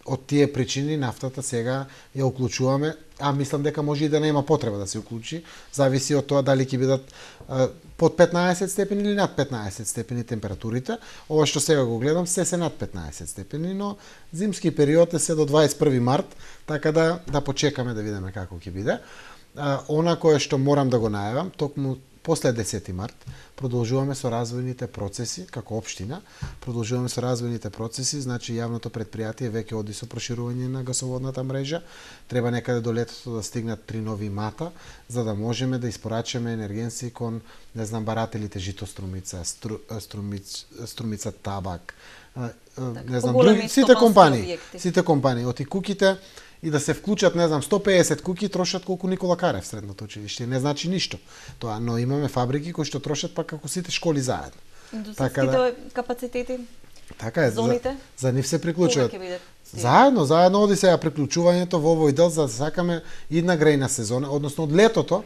B: Од тие причини нафтата сега ја уклучуваме, а мислам дека може и да нема потреба да се уклучи, зависи од тоа дали ќе бидат а, под петнаесет степени или над петнаесет степени температурите. Ова што сега го гледам се се над петнаесет степени, но зимски период е се до дваесет и први март, така да да почекаме да видиме како ќе биде. А, она кое што морам да го најавам, токму после десети март продолжуваме со развојните процеси како општина, продолжуваме со развојните процеси, значи јавното предпријатие веќе оди со проширување на гасоводната мрежа, треба некаде до летото да стигнат три нови мата, за да можеме да испорачаме енергенци кон, не знам, барателите Жито Струмица, стру, струмиц, Струмица Табак,
A: так,
B: не знам, други, сите компании, сите компании, оти куките, и да се вклучат, не знам, сто и педесет куки трошат колку Никола Карев средното училиште. Не значи ништо тоа, но имаме фабрики кои што трошат пак како сите школи заедно.
A: Индустријските да, капацитети,
B: така е,
A: зоните,
B: за, за нив се приклучуваат.
A: бидат,
B: заедно, заедно оди сега приклучувањето во овој дел, за да сакаме идна грејна сезона, односно од летото,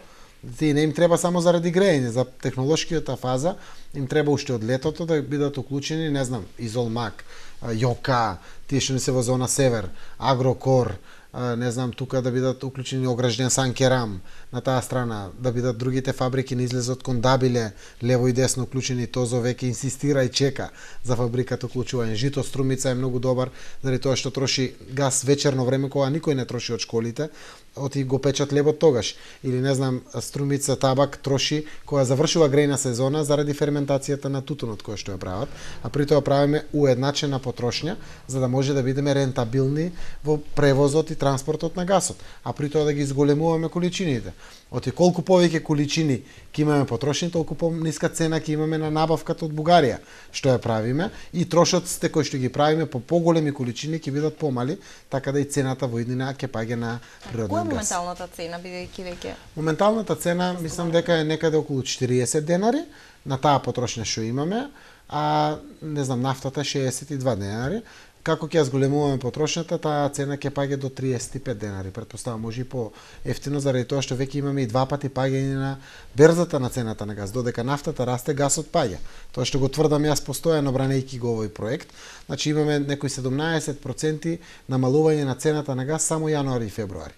B: ти не им треба само заради грејење, за технолошкиот фаза им треба уште од летото да бидат уклучени, не знам, Изолмак, Јока, тие што не се во зона Север, Агрокор, не знам, тука да бидат уклучени огражден Санкерам на таа страна, да бидат другите фабрики не излезот кон Дабиле, лево и десно уклучени, Тозо веќе инсистира и чека за фабриката уклучување. Жито Струмица е многу добар, заради тоа што троши газ вечерно време кога никој не троши од школите, оти го печат лебот тогаш. Или не знам, Струмица табак троши кога завршува грејна сезона заради ферментацијата на тутунот кој што ја прават, а при тоа правиме уедначена потрошња за да може да бидеме рентабилни во превозот и транспортот на гасот, а при тоа да ги зголемуваме количините. Оти колку повеќе количини ќе имаме потрошени, толку пониска цена ќе имаме на набавката од Бугарија, што ја правиме, и трошоците кои што ги правиме по поголеми количини ќе бидат помали, така да и цената во иднина ќе паѓа на природен газ.
A: Која е моменталната цена, бидејќи веќе?
B: Моменталната цена, мислам дека е некаде околу четириесет денари на таа потрошња што имаме, а не знам, нафтата шеесет и два денари. Како ќе ја зголемуваме потрошњата, таа цена ќе паѓа до триесет и пет денари. Претпоставам, може и по ефтино, заради тоа што веќе имаме и два пати паѓање на берзата на цената на газ. Додека нафтата расте, гасот паѓа. Тоа што го тврдам јас постојано бранејќи го овој проект. Значи имаме некои седумнаесет проценти намалување на цената на газ само јануари и февруари.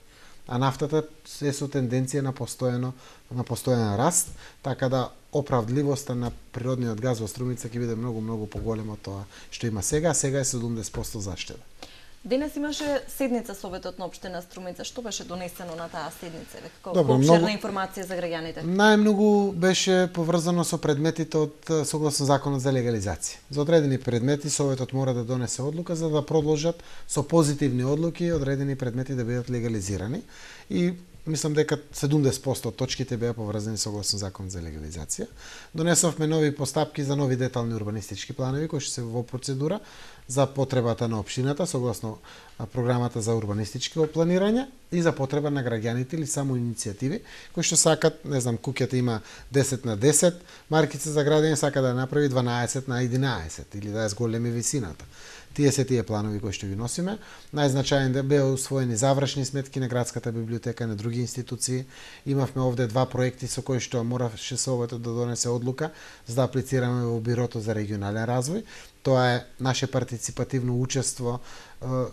B: А нафтата се со тенденција на постојано на постојан раст, така да оправдливоста на природниот газ во Струмица ќе биде многу многу поголема од тоа што има сега, а сега е седумдесет проценти заштеда.
A: Денес имаше седница Советот на општина Струмица. Што беше донесено на таа седница? Како
B: Добро,
A: обширна
B: многу...
A: информација за граѓаните?
B: Најмногу беше поврзано со предметите од согласно законот за легализација. За одредени предмети Советот мора да донесе одлука за да продолжат со позитивни одлуки одредени предмети да бидат легализирани, и мислам дека седумдесет проценти од точките беа поврзани согласно законот за легализација. Донесовме нови постапки за нови детални урбанистички планови кои што се во процедура за потребата на општината согласно програмата за урбанистичко планирање и за потреба на граѓаните или само иницијативи кои што сакат, не знам, куќата има десет на десет маркица за градење, сака да направи дванаесет на единаесет или да ја зголеми висината. Тие се тие планови кои што ги носиме. Најзначаен да беа усвоени завршни сметки на градската библиотека и на други институции. Имавме овде два проекти со кои што мораше Советот да донесе одлука за да аплицираме во Бирото за регионален развој. Тоа е наше партиципативно учество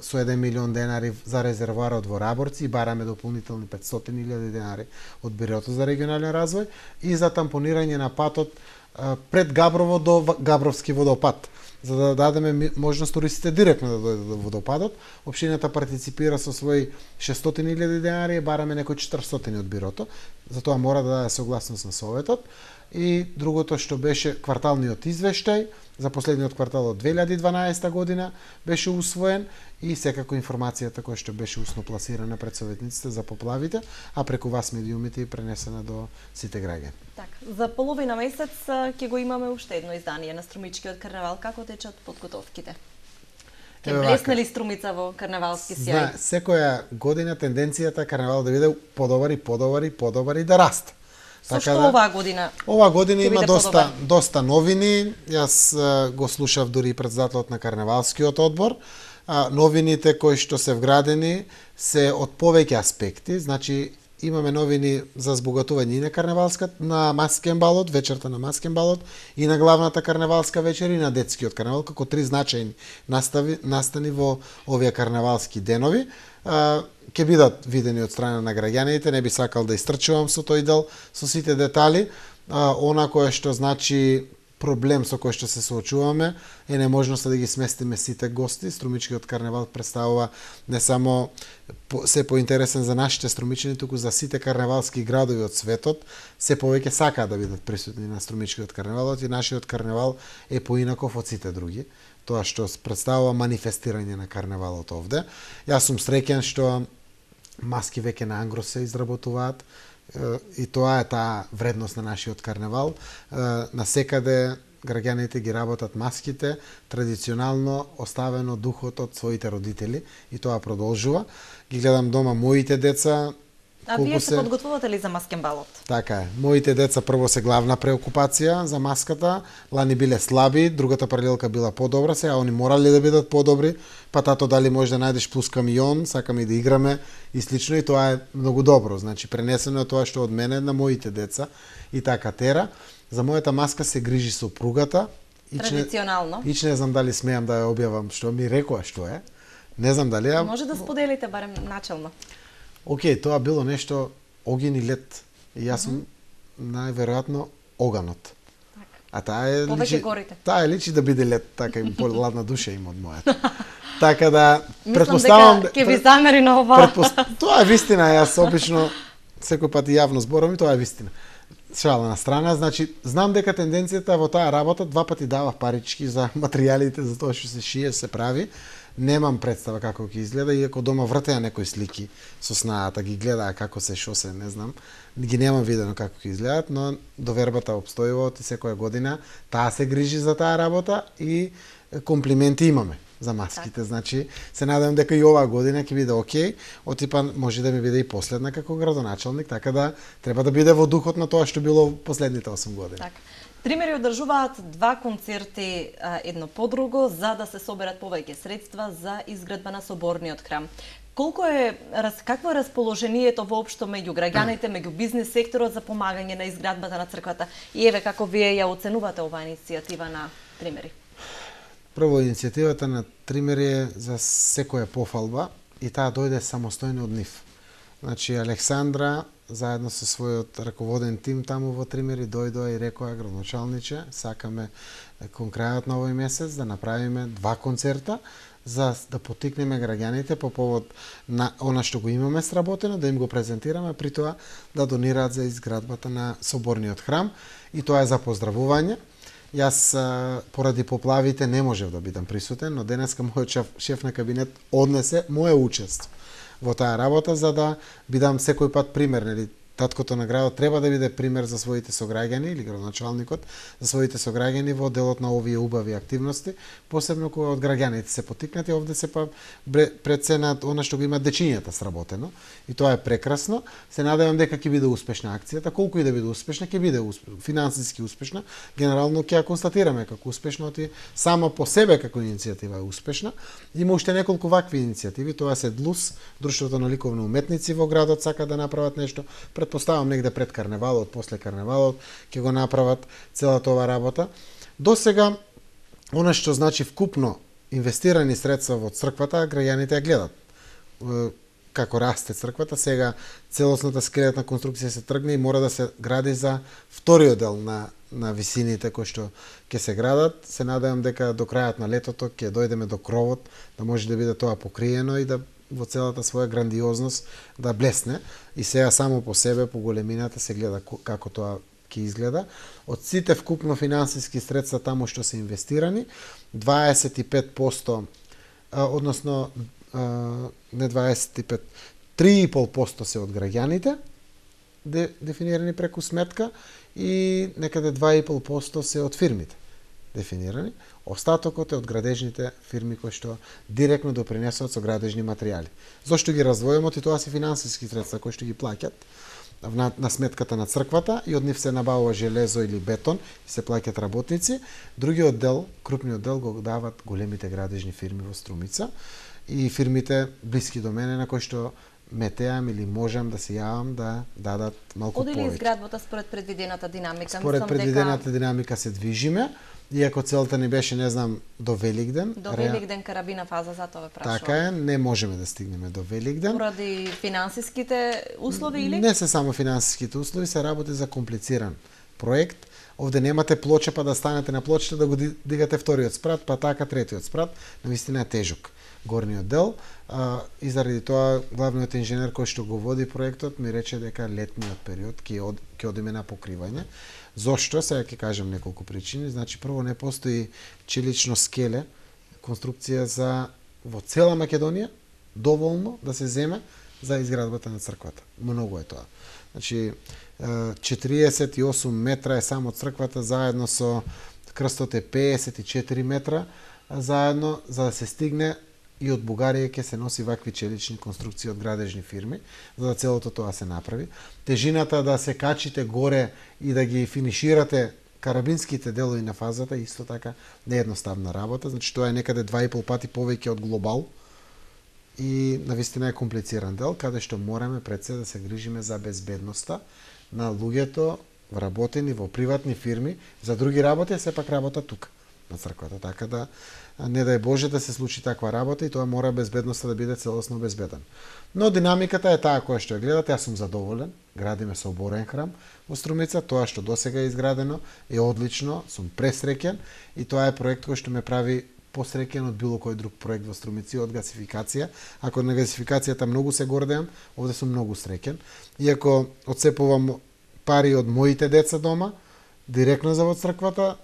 B: со еден милион денари за резервоарот во Раборци и бараме дополнителни петстотини илјади денари од Бирото за регионален развој и за тампонирање на патот пред Габрово до Габровски водопад, за да дадеме можност туристите директно да дојдат до водопадот. Општината партиципира со своји шестстотини илјади денари и бараме некои четиристотини од Бирото. Затоа мора да даде согласност на Советот. И другото што беше кварталниот извештај за последниот квартал од две илјади и дванаесета година беше усвоен и секако информацијата која што беше усно пласирана пред советниците за поплавите, а преку вас медиумите и пренесена до сите граѓани.
A: Така, за половина месец ќе го имаме уште едно издание на Струмичкиот карнавал. Како течат подготовките? Ќе блесне ли Струмица во карнавалски сјај?
B: Зна, секоја година тенденцијата карнавал да биде подобар и подобар и подобар и да расте.
A: Со што да, оваа година?
B: Оваа година има доста доста новини. Јас а, го слушав дури и председателот на карнавалскиот одбор. А, новините кои што се вградени се од повеќе аспекти. Значи имаме новини за збогатување и на карнавалската, на маскен балот, вечерта на маскен балот, и на главната карнавалска вечер и на детскиот карнавал, како три значајни настави, настани во овие карнавалски денови. А, ќе бидат видени од страна на граѓаните, не би сакал да истрчувам со тој дел, со сите детали. А, она кое што значи проблем со кој што се соочуваме е неможноста да ги сместиме сите гости. Струмичкиот карнавал представува не само се поинтересен за нашите струмичани, туку за сите карнавалски градови од светот. Се повеќе сакаат да бидат присутни на Струмичкиот карнавал, и нашиот карнавал е поинаков од сите други. Тоа што представува манифестирање на карнавалот овде. Јас сум среќен што маски веќе на ангро се изработуваат, и тоа е таа вредност на нашиот карнавал. На секаде граѓаните ги работат маските, традиционално оставено духот од своите родители, и тоа продолжува. Ги гледам дома моите деца.
A: А вие се подготвувате ли за маскен балот?
B: Така е. Моите деца прво се главна преокупација за маската. Лани биле слаби, другата паралелка била подобра, сега они морали да бидат подобри, па тато дали може да најдеш плюс камион, сакаме и да играме и слично, и тоа е многу добро. Значи пренесено е тоа што од мене на моите деца и така тера. За мојата маска се грижи сопругата.
A: Традиционално.
B: Ич не знам дали смеам да ја објавам што ми рекоа што е. Не знам дали ја...
A: Може да споделите барем начелно.
B: Океј, тоа било нешто оген и лед. И јас сум mm -hmm. најверојатно оганот.
A: Так.
B: А таа е
A: Повеќе
B: личи,
A: горите.
B: Таа е личи да биде лед, така и поладна душа има од мојата. Така да
A: Мислам
B: претпоставам
A: дека ќе ви замери на ова.
B: Предпост... Тоа е вистина, јас обично секој пат и јавно зборам и тоа е вистина. Шала на страна, значи знам дека тенденцијата во таа работа два пати давав парички за материјалите за тоа што се шие, се прави. Немам представа како ќе изгледа, иако дома вртеа некои слики со снаата, ги гледаа како се, шо се, не знам. Ги немам видено како ќе изгледат, но довербата обстојува од секоја година. Таа се грижи за таа работа и комплименти имаме за маските, так. Значи се надевам дека и оваа година ќе биде окей, од типа може да ми биде и последна како градоначалник, така да треба да биде во духот на тоа што било последните осум години.
A: Так. Тримери одржуваат два концерти едно по друго за да се соберат повеќе средства за изградба на соборниот храм. Колку е какво е расположението воопшто меѓу граѓаните, меѓу бизнис секторот за помагање на изградбата на црквата? И еве како вие ја оценувате оваа иницијатива на Тримери?
B: Прво, иницијативата на Тримери е за секоја пофалба и таа дојде самостојно од нив. Значи, Александра, заедно со својот раководен тим таму во Тримери, дојдоа и рекоа, градоначалниче, сакаме кон крајот на овој месец да направиме два концерта, за да потикнеме граѓаните по повод на она што го имаме сработено, да им го презентираме, при тоа да донираат за изградбата на соборниот храм, и тоа е за поздравување. Јас поради поплавите не можев да бидам присутен, но денеска мојот шеф, шеф на кабинет однесе моје учество во таа работа, за да бидам секој пат пример, нели? Таткото на градот треба да биде пример за своите сограѓани, или градоначалникот за своите сограѓани во делот на овие убави активности, посебно кога од граѓаните се потикнати. Овде се па пред се на она што го имаат дечињата сработено, и тоа е прекрасно. Се надевам дека ќе биде успешна акцијата, колку и да биде успешна, ќе биде успешна, финансиски успешна. Генерално ќе ја констатираме како успешна, оти сама по себе како иницијатива е успешна. Има уште неколку вакви иницијативи, тоа се ДЛУС, Друштвото на ликовни уметници во градот, сака да направат нешто. Предпоставам негде пред карневалот, после карневалот ќе го направат целата ова работа. До сега, она што значи вкупно инвестирани средства во црквата, граѓаните ја гледат. Како расте црквата, сега целосната скелетна конструкција се тргне и мора да се гради за вториот дел на на висините кои што ќе се градат. Се надевам дека до крајот на летото ќе дојдеме до кровот, да може да биде тоа покриено и да во целата своја грандиозност да блесне. И сега само по себе, по големината, се гледа како тоа ќе изгледа. Од сите вкупно финансиски средства таму што се инвестирани, дваесет и пет проценти, односно не дваесет и пет, три и пет проценти се од граѓаните, де, дефинирани преку сметка, и некаде два и пет проценти се од фирмите дефинирани. Остатокот е од градежните фирми кои што директно допринесуваат со градежни материјали. Зошто ги раздвојуваме? И тоа се финансиски средства кои што ги плаќат на, на сметката на црквата, и од нив се набавува железо или бетон и се плаќат работници. Другиот дел, крупниот дел, го дават големите градежни фирми во Струмица и фирмите блиски до мене, на кои што метеам или можам да се јавам да дадат малку повеќе.
A: Оди ли изградбата според предвидената динамика?
B: Според
A: Мислам
B: предвидената
A: дека...
B: динамика се движиме, иако целта ни беше, не знам, до Великден.
A: До Великден карабина фаза, затоа ве прашувам.
B: Така е, не можеме да стигнеме до Великден.
A: Поради финансиските услови или?
B: Не се само финансиските услови, се работи за комплициран проект. Овде немате плоча па да станете на плочата да го дигате вториот спрат, па така третиот спрат. Навистина е тежок горниот дел, а, и заради тоа главниот инженер кој што го води проектот ми рече дека летниот период ќе од, ќе одиме на покривање. Зошто? Сега ќе кажам неколку причини. Значи, прво, не постои челично скеле, конструкција за во цела Македонија, доволно да се земе за изградбата на црквата. Многу е тоа. Значи, четириесет и осум метра е само црквата, заедно со крстот е педесет и четири метра, заедно, за да се стигне и од Бугарија ќе се носи вакви челични конструкции од градежни фирми, за да целото тоа се направи. Тежината да се качите горе и да ги финиширате карабинските делови на фазата, исто така не е едноставна работа, значи тоа е некаде два и пол пати повеќе од глобал и навистина е комплициран дел, каде што мораме пред се да се грижиме за безбедноста на луѓето вработени во приватни фирми, за други работи, сепак работа тука. на црквата, така да не дај Боже да се случи таква работа и тоа мора безбедноста да биде целосно безбеден. Но динамиката е таа која што ја гледате, јас сум задоволен, градиме соборен храм во Струмица, тоа што досега е изградено е одлично, сум пресреќен и тоа е проект кој што ме прави посреќен од било кој друг проект во Струмици, од гасификација. Ако на гасификацијата многу се гордеам, овде сум многу среќен. Иако отцепувам пари од моите деца дома, директно за во црквата,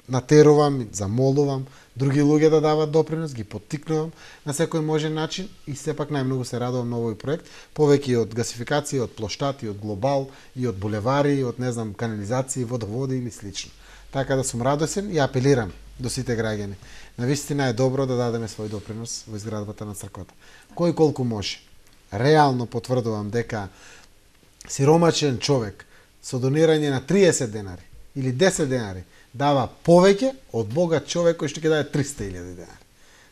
B: натерувам, замолувам други луѓе да дават допринос, ги поттикнувам на секој можен начин и сепак најмногу се радувам на овој проект, повеќе од гасификација, од плоштати, од глобал и од булевари, од не знам канализации, водоводи или слично. Така да сум радосен и апелирам до сите граѓани. Навистина е добро да дадеме свој допринос во изградбата на црквата. Кој колку може. Реално потврдувам дека сиромачен човек со донирање на триесет денари или десет денари дава повеќе од богат човек кој што ќе даде триста илјади денари.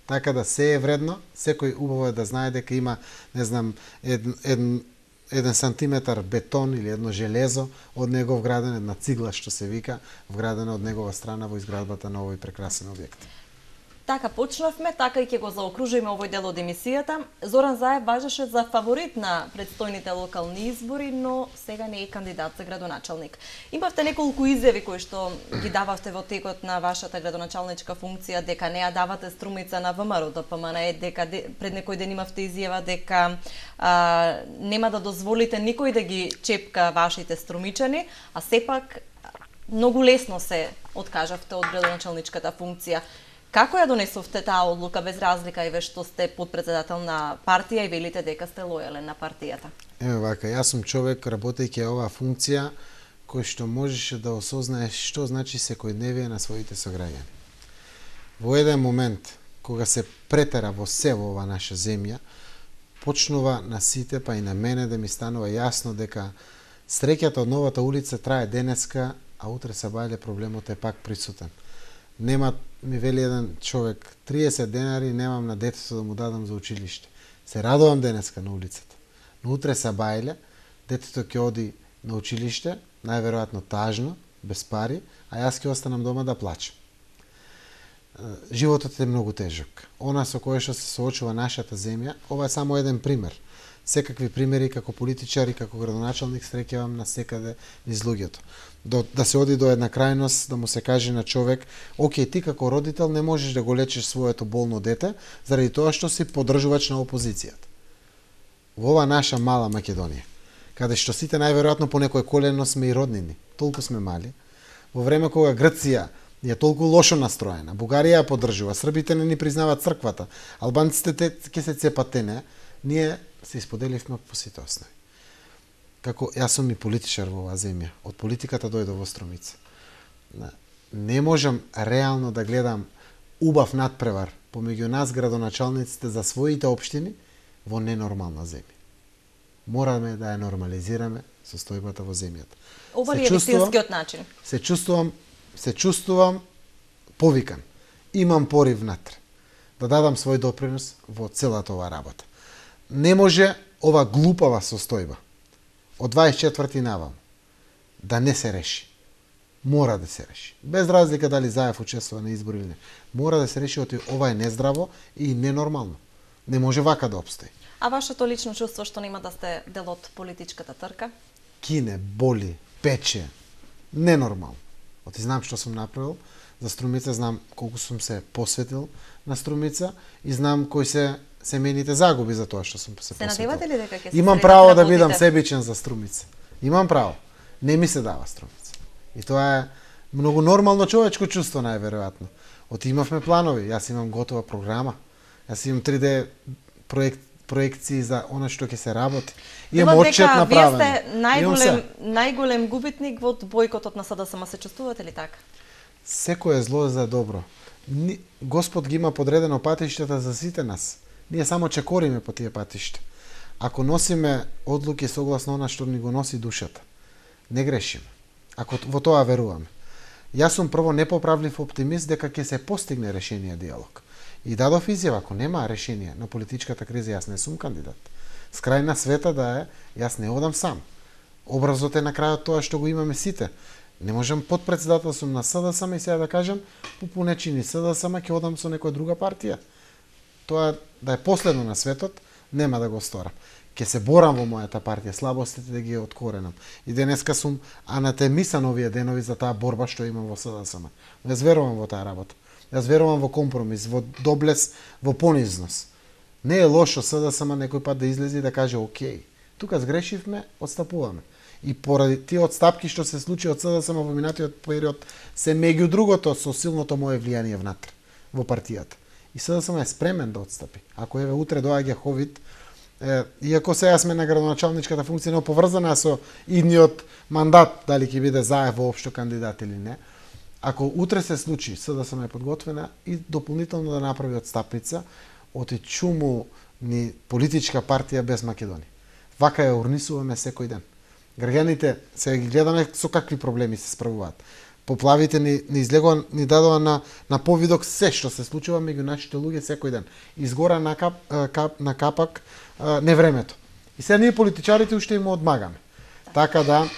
B: Така да се е вредно, секој убаво е да знае дека има, не знам, еден, еден, еден сантиметар бетон или едно железо од него вграден, една цигла што се вика, вградена од негова страна во изградбата на овој прекрасен објект.
A: Така почнавме, така и ќе го заокружиме овој дел од емисијата. Зоран Заев важеше за фаворит на предстојните локални избори, но сега не е кандидат за градоначалник. Имавте неколку изјави кои што ги дававте во текот на вашата градоначалничка функција, дека не ја давате Струмица на ВМРО Д П М Н Е, дека де, пред некој ден имавте изјава дека а, нема да дозволите никој да ги чепка вашите струмичани, а сепак многу лесно се откажавте од градоначалничката функција. Како ја донесовте таа одлука без разлика и ве што сте подпредседател на партија и велите дека сте лојален на партијата?
B: Еве вака, јас сум човек работејќи оваа функција кој што можеше да осознае што значи секојдневие на своите сограѓани. Во еден момент кога се претера во се во ова наша земја, почнува на сите, па и на мене да ми станува јасно дека среќата од новата улица трае денеска, а утре сабајле проблемот е пак присутен. Нема, ми вели еден човек, триесет денари немам на детето да му дадам за училиште. Се радувам денеска на улицата. Но утре сабајле, детето ќе оди на училиште, најверојатно тажно, без пари, а јас ќе останам дома да плачам. Животот е многу тежок. Она со кое што се соочува нашата земја, ова е само еден пример. Секакви примери како политичар и како градоначалник среќавам на секаде низ луѓето. До, да се оди до една крајност, да му се каже на човек, окей, ти како родител не можеш да го лечиш своето болно дете, заради тоа што си поддржувач на опозицијата. Во ова наша мала Македонија, каде што сите најверојатно по некој колено сме и роднини, толку сме мали, во време кога Грција е толку лошо настроена, Бугарија ја поддржува, србите не ни признаваат црквата, албанците ќе се цепат тене, ние се исподеливме по сите основи. Како јас сум и политичар во оваа земја, од политиката дојдов во Струмица. Не можам реално да гледам убав надпревар помеѓу нас градоначалниците за своите општини во ненормална земја. Мораме да ја нормализираме состојбата во земјата.
A: Ова ли е вистинскиот начин?
B: Се чувствувам, се чувствувам повикан. Имам порив внатре да дадам свој допринос во целата оваа работа. Не може ова глупава состојба од дваесет и четврти навам да не се реши. Мора да се реши. Без разлика дали Заев учествува на избори или не. Мора да се реши, оти ова е нездраво и ненормално. Не може вака да обстои.
A: А вашето лично чувство што нема да сте дел од политичката трка?
B: Кине, боли, пече. Ненормално. Оти знам што сум направил за Струмица, знам колку сум се посветил на Струмица и знам кои се семејните загуби за тоа што сум се посветил.
A: Се надевате ли дека ќе се
B: Имам право да бидам себичен за Струмица. Имам право. Не ми се дава Струмица. И тоа е многу нормално човечко чувство најверојатно. Оти имавме планови, јас имам готова програма. Јас имам три Д проект проекции за она што ќе се работи. Имам отчет направен.
A: Вие сте најголем најголем губитник во бојкотот на С Д С М. Се чувствувате ли така?
B: Секое зло е за добро. Господ ги има подредено патиштата за сите нас. Ние само чекориме по тие патишта. Ако носиме одлуки согласно она што ни го носи душата, не грешиме. Ако во тоа веруваме. Јас сум прво непоправлив оптимист дека ќе се постигне решение диалог. И дадов изјава, ако нема решение на политичката криза, јас не сум кандидат. С крај на света да е, јас не одам сам. Образот е на крајот тоа што го имаме сите. Не можам подпредседател сум на СДСМ и сега да кажам по понечини СДСМ ќе одам со некоја друга партија. Тоа да е последно на светот, нема да го сторам. Ќе се борам во мојата партија, слабостите да ги откоренам. И денеска сум анатемисан овие денови за таа борба што имам во СДСМ. Јас верувам во таа работа. Јас верувам во компромис, во доблес, во понизност. Не е лошо СДСМ некој пат да излезе и да каже окей, тука сгрешивме, отстапуваме. И поради тие отстапки што се случи од СДСМ во минатиот период се меѓу другото со силното мое влијание внатре во партијата. И СДСМ е спремен да отстапи. Ако еве утре доаѓа ковид, е, иако сега сме на градоначалничката функција не поврзана со идниот мандат, дали ќе биде Заев воопшто кандидат или не, ако утре се случи, СДСМ е подготвена и дополнително да направи отстапница од чуму ни политичка партија без Македонија. Вака ја урнисуваме секој ден. Граѓаните сега ги гледаме со какви проблеми се справуваат. Поплавите ни, ни излегува, ни дадоа на, на повидок се што се случува меѓу нашите луѓе секој ден. Изгора на, кап, кап, на капак а, невремето. И сега ние политичарите уште им одмагаме. Така да,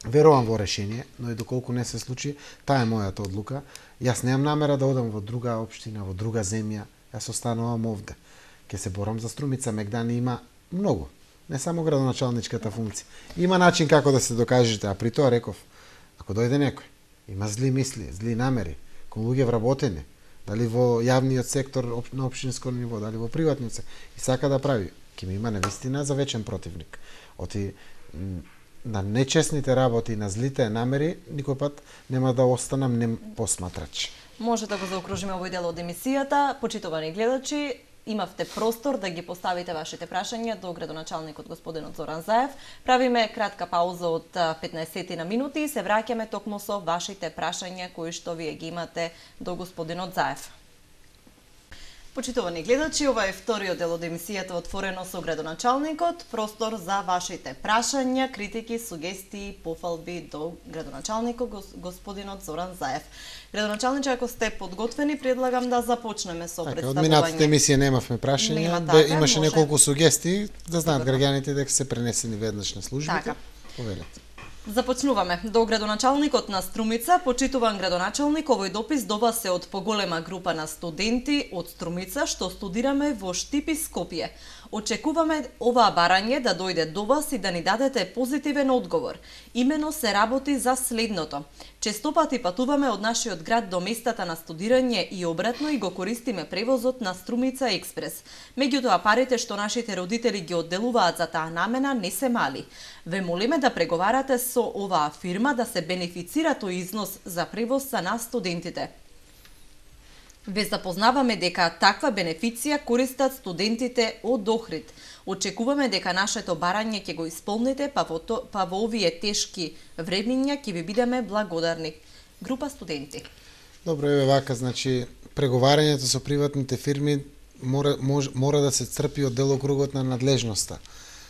B: верувам во решение, но и доколку не се случи, таа е мојата одлука. Јас немам намера да одам во друга општина, во друга земја. Јас останувам овде. Ке се борам за Струмица. Мегдани има многу. Не само градоначалничката функција. Има начин како да се докажете, а при тоа реков, ако дојде некој, има зли мисли, зли намери, кон луѓе вработени, дали во јавниот сектор на општинско ниво, дали во приватниот сектор, и сака да прави, ќе ми има навистина за вечен противник. Оти на нечесните работи, на злите намери, никој пат нема да останам нем посматрач.
A: Може да го заокружиме овој дел од емисијата. Почитувани гледачи, имавте простор да ги поставите вашите прашања до градоначалникот господинот Зоран Заев. Правиме кратка пауза од петнаесет на минути и се враќаме токму со вашите прашања кои што вие ги имате до господинот Заев. Почитувани гледачи, ова е вториот дел од емисијата Отворено со градоначалникот. Простор за вашите прашања, критики, сугестии, пофалби до градоначалникот господинот Зоран Заев. Градоначалниче, ако сте подготвени, предлагам да започнеме со
B: така,
A: представување.
B: Од минатите емисија немавме прашања,
A: Нема,
B: бе,
A: така,
B: имаше
A: може.
B: неколку сугестии, да знаат граѓаните дека се пренесени веднаш на службите.
A: Така.
B: Повелете.
A: Започнуваме. До градоначалникот на Струмица, почитуван градоначалник, овој допис до вас е од поголема група на студенти од Струмица што студираме во Штип и Скопје. Очекуваме оваа барање да дојде до вас и да ни дадете позитивен одговор. Имено се работи за следното. Честопати патуваме од нашиот град до местата на студирање и обратно и го користиме превозот на Струмица Експрес. Меѓутоа парите што нашите родители ги одделуваат за таа намена не се мали. Ве молиме да преговарате со оваа фирма да се бенефицира тој износ за превоз за нас студентите. Ве запознаваме дека таква бенефиција користат студентите од Охрид. Очекуваме дека нашето барање ќе го исполните, па во, то, па во овие тешки времиња ќе ви бидеме благодарни. Група студенти.
B: Добро, еве вака, значи преговарањето со приватните фирми мора мож, мора да се црпи од делокругот на надлежноста.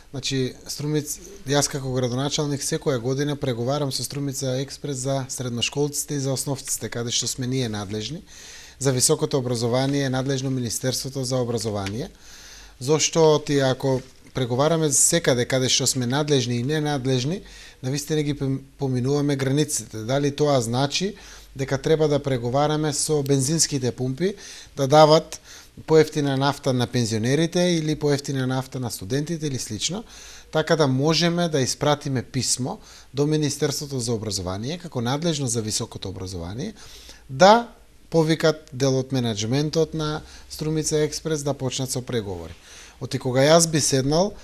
B: Значи Струмица, јас како градоначалник секоја година преговарам со Струмица Експрес за средношколците и за основците, каде што сме ние надлежни. За високото образование е надлежно Министерството за образование, зашто ти ако преговараме секаде каде што сме надлежни и ненадлежни, навистина ги поминуваме границите. Дали тоа значи дека треба да преговараме со бензинските пумпи да дават поевтина нафта на пензионерите или поевтина нафта на студентите или слично, така да можеме да испратиме писмо до Министерството за образование како надлежно за високото образование да повикат дел од менеджментот на Струмица Експрес да почнат со преговори. Оти кога јас би седнал,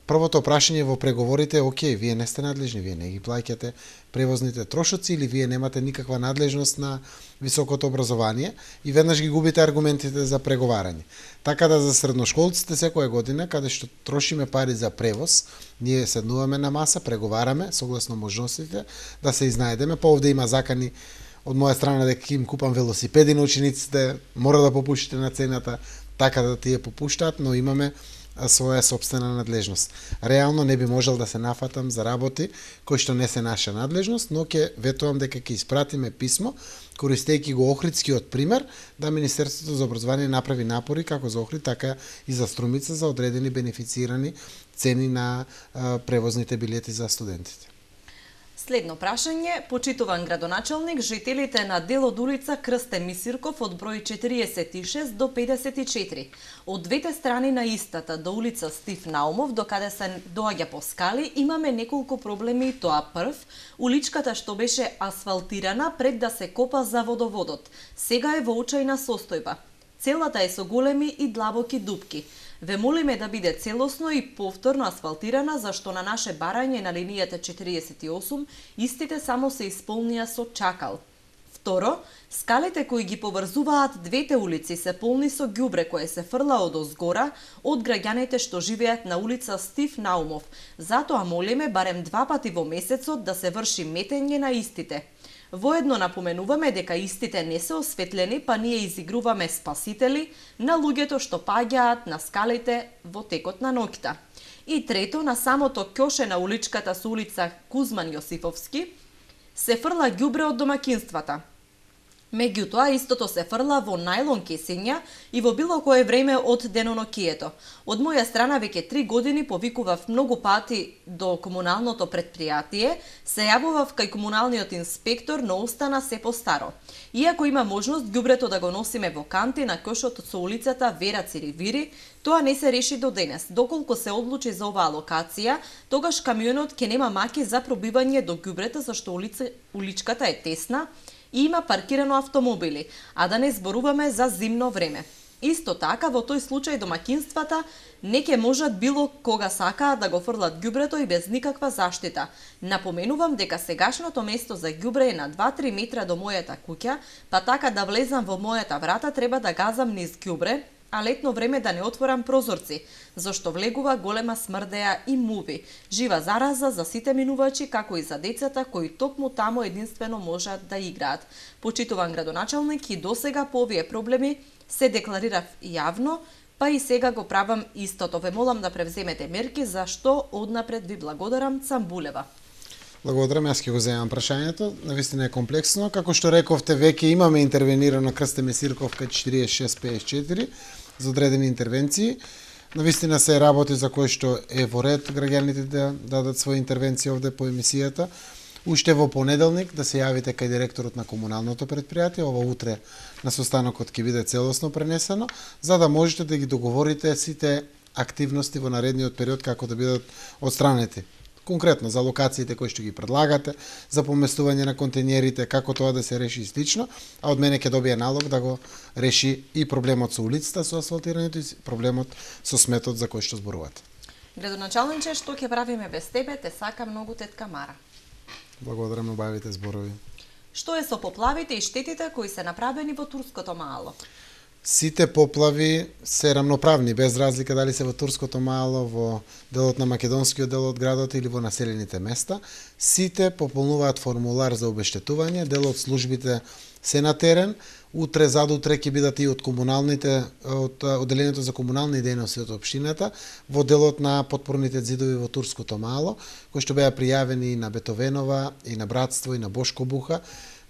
B: првото прашање во преговорите е окей, вие не сте надлежни, вие не ги плаќате превозните трошоци или вие немате никаква надлежност на високото образование и веднаш ги губите аргументите за преговарање. Така да за средношколците секоја година, каде што трошиме пари за превоз, ние седнуваме на маса, преговараме согласно можностите да се изнајдеме, па овде има закани од моја страна дека им купам велосипеди на учениците, мора да попуштите на цената, така да тие попуштаат, но имаме своја собствена надлежност. Реално не би можел да се нафатам за работи кои што не се наша надлежност, но ќе ветувам дека ќе испратиме писмо, користејќи го Охридскиот пример, да Министерството за образование направи напори како за Охрид, така и за Струмица за одредени бенефицирани цени на а, превозните билети за студентите.
A: Следно прашање, почитуван градоначалник, жителите на дел од улица Крсте Мисирков од број четириесет и шест до педесет и четири, од двете страни на истата до улица Стив Наумов, до каде се доаѓа по скали, имаме неколку проблеми и тоа прв, уличката што беше асфалтирана пред да се копа за водоводот, сега е во очајна состојба. Целата е со големи и длабоки дупки. Ве молиме да биде целосно и повторно асфалтирана, зашто на наше барање на линијата четириесет и осум истите само се исполнија со чакал. Второ, скалите кои ги поврзуваат двете улици се полни со ѓубре кое се фрла од озгора од граѓаните што живеат на улица Стив Наумов. Затоа молиме барем два пати во месецот да се врши метење на истите. Воедно напоменуваме дека истите не се осветлени, па ние изигруваме спасители на луѓето што паѓаат на скалите во текот на ноќта. И трето, на самото ќоше на уличката со улица Кузман Јосифовски се фрла ѓубре од домакинствата. Меѓутоа, истото се фрла во најлон кесења и во било кое време од денонокието. Од моја страна веќе три години повикував многу пати до комуналното предпријатие, се јавував кај комуналниот инспектор, но остана се постаро. Иако има можност ѓубрето да го носиме во канти на кошот со улицата Вера Циривири, тоа не се реши до денес. Доколку се одлучи за оваа локација, тогаш камионот ќе нема маки за пробивање до ѓубрето, зашто улица, уличката е тесна и има паркирано автомобили, а да не зборуваме за зимно време. Исто така, во тој случај домакинствата не ќе можат било кога сакаат да го фрлат ѓубрето и без никаква заштита. Напоменувам дека сегашното место за ѓубре е на два-три метра до мојата куќа, па така да влезам во мојата врата треба да газам низ ѓубре, а летно време да не отворам прозорци, зашто влегува голема смрдеа и муви, жива зараза за сите минувачи, како и за децата кои токму таму единствено можат да играат. Почитуван градоначалник, и досега по овие проблеми се декларирав јавно, па и сега го правам истото. Ве молам да превземете мерки, за што однапред ви благодарам. Цамбулева.
B: Благодарам, јас ќе го земам прашањето. Навистина е комплексно. Како што рековте, веќе имаме интервенирано Крсте Месирковка четириесет и шест педесет и четири за одредени интервенции. Навистина се работи за кој што е во ред граѓаните да дадат своји интервенции овде по емисијата. Уште во понеделник да се јавите кај директорот на комуналното предпријатие, ова утре на состанокот ќе биде целосно пренесено, за да можете да ги договорите сите активности во наредниот период како да бидат отстранети. Конкретно за локациите кои што ги предлагате, за поместување на контејнерите, како тоа да се реши и слично, а од мене ќе добие налог да го реши и проблемот со улицата, со асфалтирањето и проблемот со сметот за кој што зборувате.
A: Градоначалниче, што ќе правиме без тебе, те сака многу тетка Мара.
B: Благодарам на убавите зборови.
A: Што е со поплавите и штетите кои се направени во Турското мало?
B: Сите поплави се рамноправни, без разлика дали се во Турското мало, во делот на македонскиот дел од градот или во населените места. Сите пополнуваат формулар за обештетување, дел од службите се на терен. Утре, задутре ќе бидат и од комуналните, од одделението за комунални дејности од општината, во делот на потпорните ѕидови во Турското мало, кои што беа пријавени и на Бетовенова, и на Братство, и на Бошко Буха,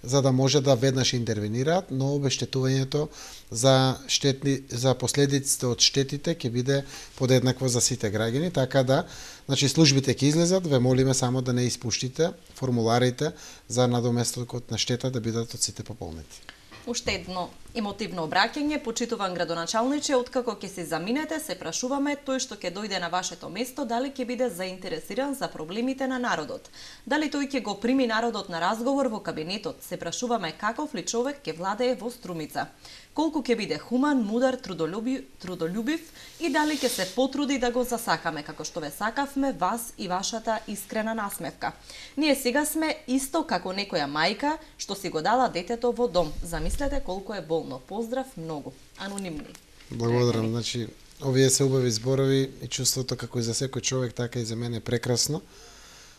B: за да може да веднаш интервенираат, но обештетувањето за штетни за последиците од штетите ќе биде подеднакво за сите граѓани, така да, значи службите ќе излезат, ве молиме само да не испуштите формуларите за надоместокот на штета да бидат од сите пополнети.
A: Уште едно емотивно обраќање, почитуван градоначалниче, откако ќе се заминете, се прашуваме тој што ќе дојде на вашето место, дали ќе биде заинтересиран за проблемите на народот. Дали тој ќе го прими народот на разговор во кабинетот, се прашуваме каков ли човек ќе владее во Струмица. Колку ќе биде хуман, мудар, трудолюбив, трудолюбив и дали ќе се потруди да го засакаме, како што ве сакавме вас и вашата искрена насмевка. Ние сега сме исто како некоја мајка што си го дала детето во дом. Замислете колку е болно. Поздрав многу. Анонимни.
B: Благодарам. Значи, овие се убави зборови и чувството како и за секој човек, така и за мене е прекрасно.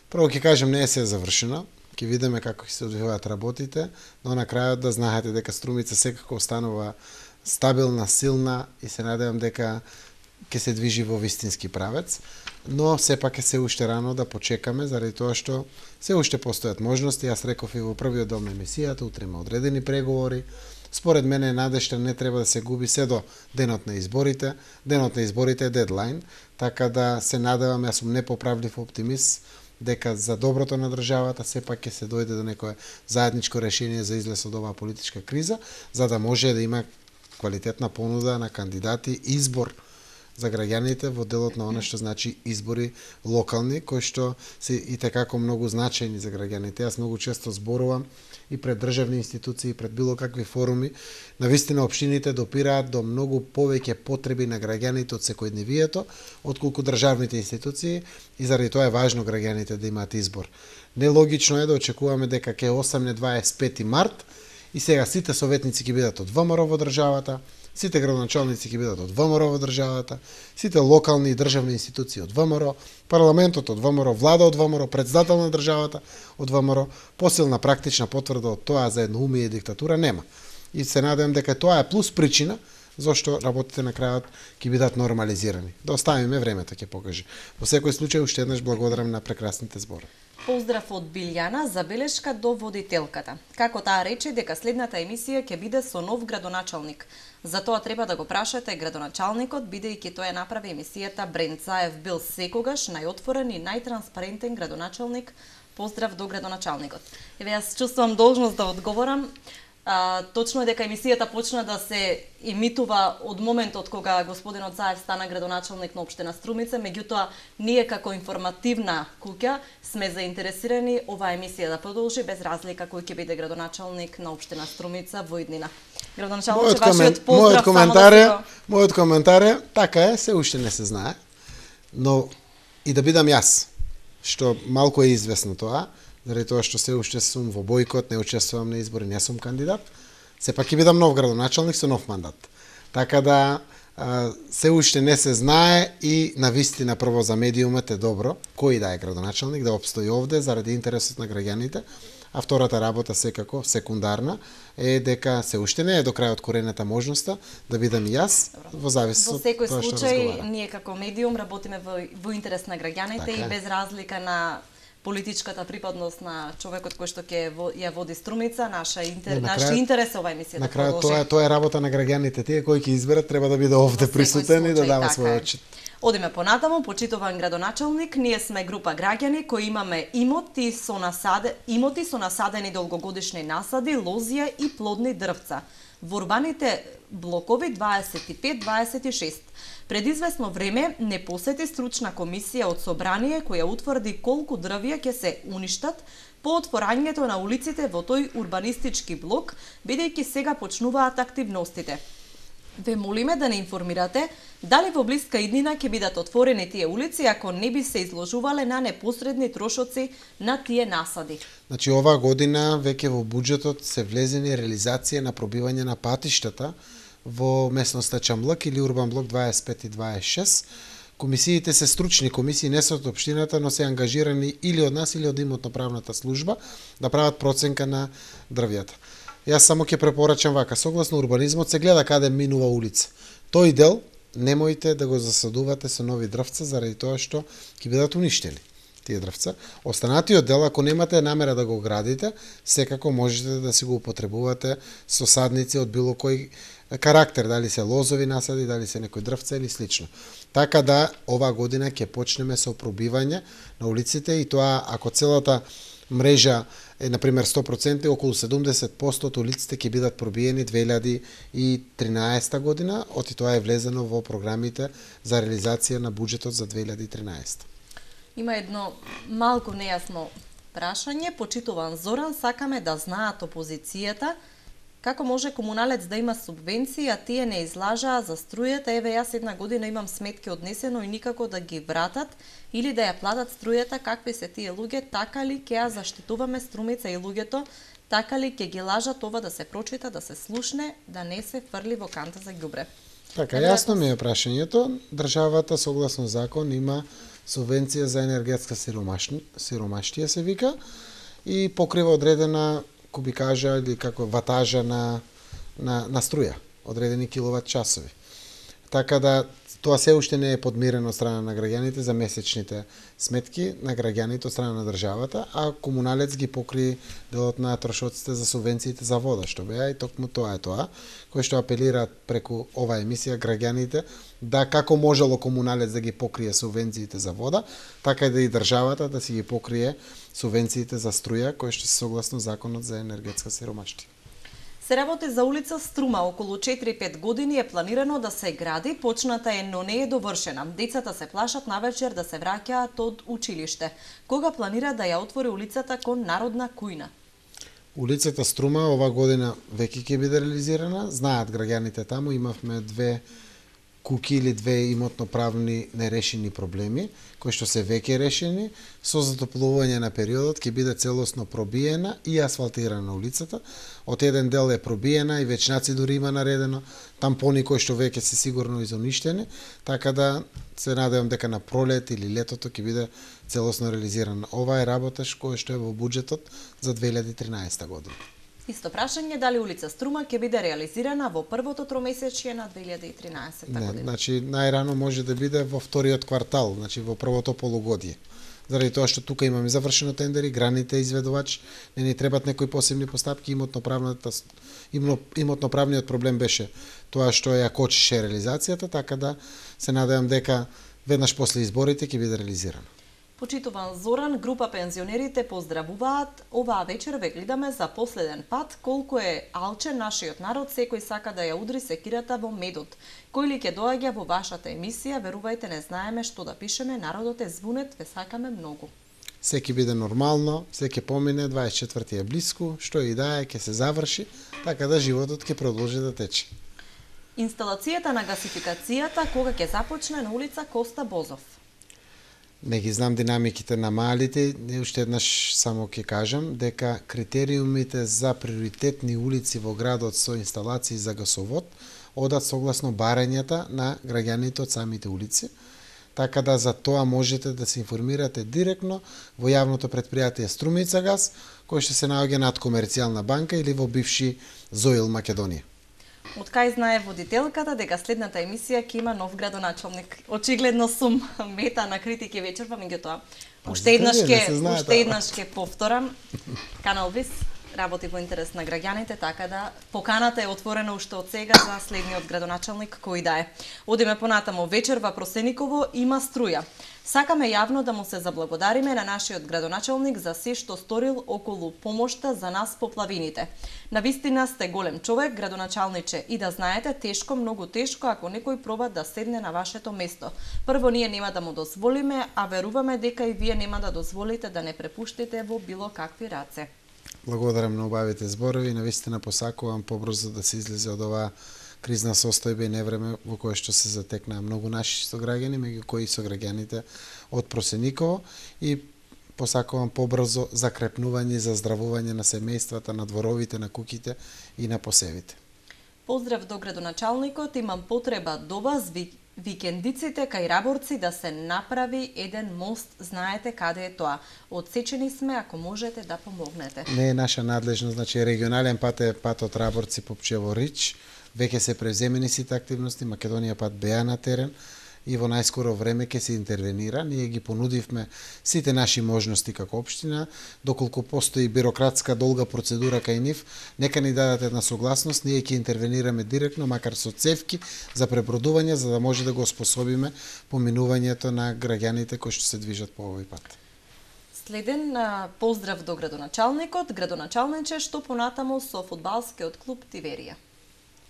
B: Прво ќе кажем, не е се завршено. Ќе видиме како ќе се одвиваат работите, но на крајот да знаете дека Струмица секако останува стабилна, силна и се надевам дека ќе се движи во вистински правец, но сепак е се уште рано да почекаме, заради тоа што се уште постојат можности. Јас реков и во првиот дел на емисијата, утре има одредени преговори. Според мене надежта не треба да се губи се до денот на изборите. Денот на изборите е дедлайн, така да се надевам, јас сум непоправлив оптимист, дека за доброто на државата сепак ќе се дојде до некое заедничко решение за излез од оваа политичка криза, за да може да има квалитетна понуда на кандидати, избор за граѓаните во делот на она што значи избори локални, кои што се и tekako многу значајни за граѓаните. Јас многу често зборувам и пред државни институции, и пред било какви форуми. Навистина општините допираат до многу повеќе потреби на граѓаните од секојдневието, отколку државните институции, и заради тоа е важно граѓаните да имаат избор. Нелогично е да очекуваме дека ќе осамне дваесет и пети март и сега сите советници ќе бидат од ВМРО во државата, сите градоначалници ќе бидат од ВМРО во државата, сите локални и државни институции од ВМРО, парламентот од ВМРО, влада од ВМРО, претседател на државата од ВМРО, посилна практична потврда од тоа за едноумие и диктатура нема. И се надевам дека тоа е плюс причина зашто работите на крајот ќе бидат нормализирани. Да оставиме, времето ќе покаже. Во секој случај уште еднаш благодарам на прекрасните збори.
A: Поздрав од Билјана, забелешка до водителката. Како таа рече дека следната емисија ќе биде со нов градоначалник. Затоа треба да го прашате градоначалникот, бидејќи тој ја направи емисијата Брент Заев бил секогаш најотворен и најтранспарентен градоначалник. Поздрав до градоначалникот. Еве јас чувствувам должност да одговорам. А, точно е дека емисијата почна да се емитува од моментот кога господинот Заев стана градоначалник на општина Струмица, меѓутоа ние како информативна куќа сме заинтересирани оваа емисија да продолжи без разлика кој ќе биде градоначалник на општина Струмица во иднина. Градоначалник, вашиот поздрав.
B: Мојот коментар е, мојот коментар е, така е, се уште не се знае, но и да бидам јас, што малку е известно тоа, заради тоа што се уште сум во бојкот, не учествувам на избори, не сум кандидат, сепак ќе бидам нов градоначалник со нов мандат. Така да се уште не се знае и навистина прво за медиумот е добро, кој да е градоначалник, да обстои овде заради интересот на граѓаните, а втората работа секако, секундарна, е дека се уште не е до крај откорената можноста да бидам и јас, во зависност од
A: тоа што разговарам. Во секој случај, ние како медиум работиме во, во интерес на граѓаните така и без разлика на политичката припадност на човекот кој што ќе ја води Струмица, наша интер, наш интерес ова емисија да продолжи.
B: На крајот тоа, тоа е работа на граѓаните, тие кои ќе изберат треба да биде овде присутен и да дава свој отчет.
A: Одиме понатаму, почитуван градоначалник, ние сме група граѓани кои имаме имоти со насаде, имоти со насадени долгогодишни насади, лозија и плодни дрвца во урбаните блокови дваесет и пет дваесет и шест. Пред известно време не посети стручна комисија од собрание која утврди колку дрвја ќе се уништат по отворањето на улиците во тој урбанистички блок, бидејќи сега почнуваат активностите. Ве молиме да не информирате дали во блиска иднина ќе бидат отворени тие улици ако не би се изложувале на непосредни трошоци на тие насади.
B: Значи оваа година веќе во буџетот се влезени реализација на пробивање на патиштата во местноста Чамлак или Урбан блок дваесет и пет и дваесет и шест. Комисиите се стручни комисии, не се од општината, но се ангажирани или од нас или од имотно-правната служба да прават проценка на дрвјата. Јас само ќе препорачам вака, согласно урбанизмот се гледа каде минува улица. Тој дел немојте да го засадувате со нови дрвца заради тоа што ќе бидат уништени тие дрвца. Останатиот дел, ако немате намера да го градите, секако можете да си го употребувате со садници од било кој карактер, дали се лозови насади, дали се некој дрвца или слично. Така да оваа година ќе почнеме со пробивање на улиците и тоа ако целата мрежа е на пример сто проценти, околу седумдесет проценти од улиците ќе бидат пробиени две илјади и тринаесета година, оти тоа е влезено во програмите за реализација на буџетот за две илјади и тринаесета.
A: Има едно малку нејасно прашање, почитуван Зоран, сакаме да знаат опозицијата како може комуналец да има субвенции, а тие не излажаа за струјата. Еве јас една година имам сметки однесено и никако да ги вратат или да ја платат струјата. Какви се тие луѓе? Така ли ќе ја заштитуваме Струмица и луѓето? Така ли ќе ги лажат? Ова да се прочита, да се слушне, да не се фрли во канта за ѓубре.
B: Така, јасно ми е прашањето. Државата согласно закон има субвенција за енергетска сиромаштија се вика и покрива одредена кубикажа или како ватажа на, на, на струја, одредени киловат часови. Така да Тоа се уште не е подмирено од страна на граѓаните за месечните сметки на граѓаните од страна на државата, а комуналец ги покри делот на трошоците за субвенциите за вода, што беа и токму тоа е тоа, кој што апелираат преку оваа емисија граѓаните да како можело комуналец да ги покрие субвенциите за вода, така и да и државата да си ги покрие субвенциите за струја, кои што се согласно законот за енергетска сиромаштија.
A: Се работи за улица Струма, околу четири-пет години е планирано да се гради, почната е, но не е довршена. Децата се плашат навечер да се враќаат од училиште. Кога планира да ја отвори улицата кон Народна кујна?
B: Улицата Струма ова година веќе ќе биде реализирана. Знаат граѓаните таму, имавме две куки или две имотно-правни нерешени проблеми, кои што се веќе решени. Со затоплување на периодот ќе биде целосно пробиена и асфалтирана улицата. Од еден дел е пробиена и вечнаци дури има наредено, тампони кои што веќе се сигурно изоништени, така да се надевам дека на пролет или летото ќе биде целосно реализирана. Ова е работа која што е во буџетот за две илјади и тринаесетта година.
A: Исто прашање, дали улица Струма ќе биде реализирана во првото тромесечје на две илјади и тринаесетта година?
B: Не, значи најрано може да биде во вториот квартал, значи во првото полугодие. Заради тоа што тука имаме завршено тендери, граните изведувач, не ни требат некои посебни постапки, имотно-правната имотно-правниот проблем беше тоа што ја кочеше реализацијата, така да се надевам дека веднаш после изборите ќе биде реализирано.
A: Почитуван Зоран, група пензионерите поздравуваат. Оваа вечер ве гледаме за последен пат. Колку е алчен нашиот народ, секој сака да ја удри секирата во медот. Кој ли ќе доаѓа во вашата емисија, верувајте, не знаеме што да пишеме, народот е звунет, ве сакаме многу.
B: Секи биде нормално, секи помине, дваесет и четврти е блиску, што и да е, ќе се заврши, така да животот ќе продолжи да тече.
A: Инсталацијата на гасификацијата кога ќе започне на улица Коста Бозов?
B: Не ги знам динамиките на малите, уште еднаш само ќе кажам дека критериумите за приоритетни улици во градот со инсталации за гасовод одат согласно барањата на граѓаните од самите улици, така да за тоа можете да се информирате директно во јавното претпријатие Струмица газ, кој што се наоѓа над Комерцијална банка или во бивши Зоил Македонија.
A: Од кај знае водителката дека следната емисија ќе има нов градоначалник? Очигледно сум мета на критики вечерва, меѓутоа уште еднаш ќе уште еднаш ќе повторам. Канал Вис работи во интерес на граѓаните, така да поканата е отворена уште од сега за следниот градоначалник кој да е. Одиме понатаму. Вечерва Просениково има струја. Сакаме јавно да му се заблагодариме на нашиот градоначалник за се што сторил околу помошта за нас поплавините. Навистина сте голем човек, градоначалниче, и да знаете, тешко, многу тешко, ако некој проба да седне на вашето место. Прво, ние нема да му дозволиме, а веруваме дека и вие нема да дозволите да не препуштите во било какви раце.
B: Благодарам на убавите зборови, навистина посакувам побрзо да се излезе од оваа кризна состојба и невреме во кое што се затекнаа многу наши сограѓани, меѓу кои сограѓаните од Просениково, и посакувам побрзо закрепнување и заздравување на семејствата, на дворовите, на куките и на посевите.
A: Поздрав до градоначалникот, имам потреба до вас викендиците кај Раборци да се направи еден мост, знаете каде е тоа. Одсечени сме, ако можете да помогнете.
B: Не е наша надлежност, значи регионален пат е патот Раборци Попчево Рич. Веќе се превземени сите активности, Македонија пат беа на терен и во најскоро време ќе се интервенира. Ние ги понудивме сите наши можности како општина, доколку постои бирократска долга процедура кај нив, нека ни дадат една согласност, ние ќе интервенираме директно, макар со цевки за пребродување, за да може да го способиме поминувањето на граѓаните кои што се движат по овој пат.
A: Следен поздрав до градоначалникот, градоначалниче, што понатаму со фудбалскиот клуб Тиверија.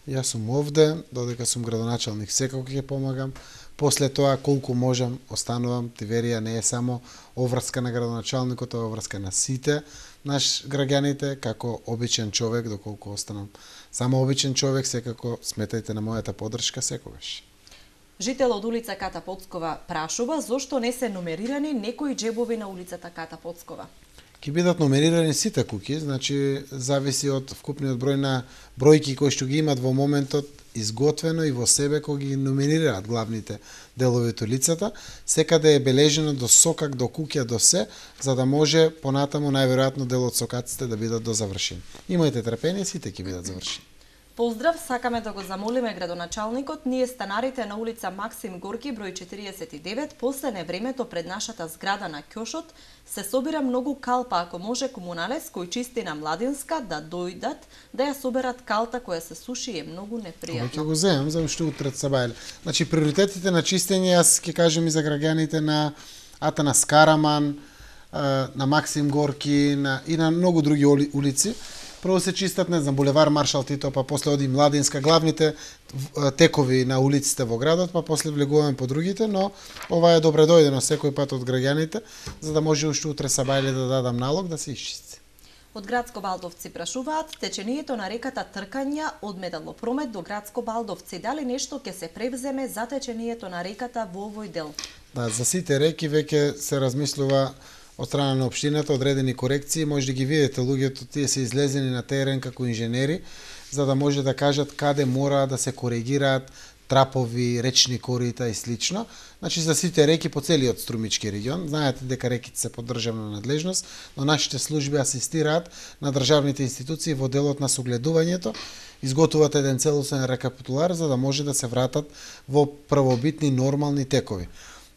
B: Јас сум овде, додека сум градоначалник, секако ќе помагам. После тоа, колку можам, останувам. Тиверија не е само оврска на градоначалникот, тоа е оврска на сите наш граѓаните, како обичен човек, доколку останам само обичен човек, секако сметајте на мојата поддршка секогаш.
A: Жител од улица Ката Поцкова прашува зошто не се номерирани некои џебови на улицата Ката Поцкова.
B: Ќе бидат номерирани сите куки, значи зависи од вкупниот број на бројки кои што ги имат во моментот изготвено и во себе кога ги номерираат главните делови од улицата, секаде е бележено до сокак, до куќа, до се, за да може понатаму најверојатно дел од сокаците да бидат дозавршени. Имајте трпение, сите ќе бидат завршени.
A: Поздрав, сакаме да го замолиме градоначалникот, ние станарите на улица Максим Горки, број четириесет и девет, последне времето пред нашата зграда на Ќошот, се собира многу калпа, ако може комуналес кој чисти на Младинска да дојдат, да ја соберат калта која се суши е многу непријатно.
B: Ќе го земам за уште утре сабајле. Значи приоритетите на чистење, јас ќе кажем и за граѓаните на Атанас Караман, на Максим Горки на, и на многу други улици. Прво се чистат, не знам, булевар Маршал Тито, па после оди Младинска, главните текови на улиците во градот, па после влегуваме по другите, но ова е добре дојдено секој пат од граѓаните, за да може уште утре сабајле да дадам налог да се исчисти.
A: Од Градско Балдовци прашуваат, течението на реката Тркања од Металопромет до Градско Балдовци, дали нешто ќе се превземе за течението на реката во овој дел?
B: Да, за сите реки веќе се размислува од страна на општината одредени корекции, може да ги видите луѓето, тие се излезени на терен како инженери, за да може да кажат каде мора да се коригираат трапови, речни корита и слично. Значи за сите реки по целиот Струмички регион, знаете дека реките се под државна надлежност, но нашите служби асистираат на државните институции во делот на согледувањето, изготвуваат еден целосен рекапитулар за да може да се вратат во првобитни нормални текови.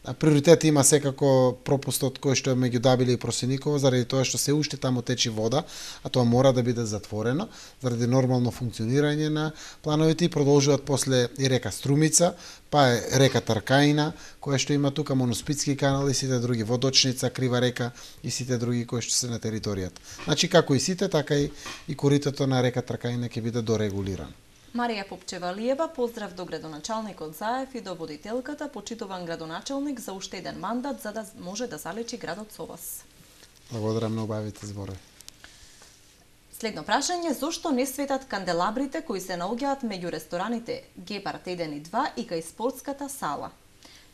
B: А приоритет има секако пропустот кој што е меѓу Дабиле и Просеникова, заради тоа што се уште таму течи вода, а тоа мора да биде затворено, заради нормално функционирање на плановите и продолжуваат после и река Струмица, па е река Тркаина, која што има тука Моноспитски канал и сите други, Водочница, Крива река и сите други кои што се на територијата. Значи како и сите, така и, и коритото на река Тркаина ќе биде дорегулирано.
A: Марија Попчевалиева, поздрав до градоначалникот Заев и до водителката, почитуван градоначалник за уште еден мандат за да може да залечи градот со вас.
B: Благодарам на убавите зборови.
A: Следно прашање, зошто не светат канделабрите кои се наоѓаат меѓу рестораните Гепард еден и два и кај спортската сала?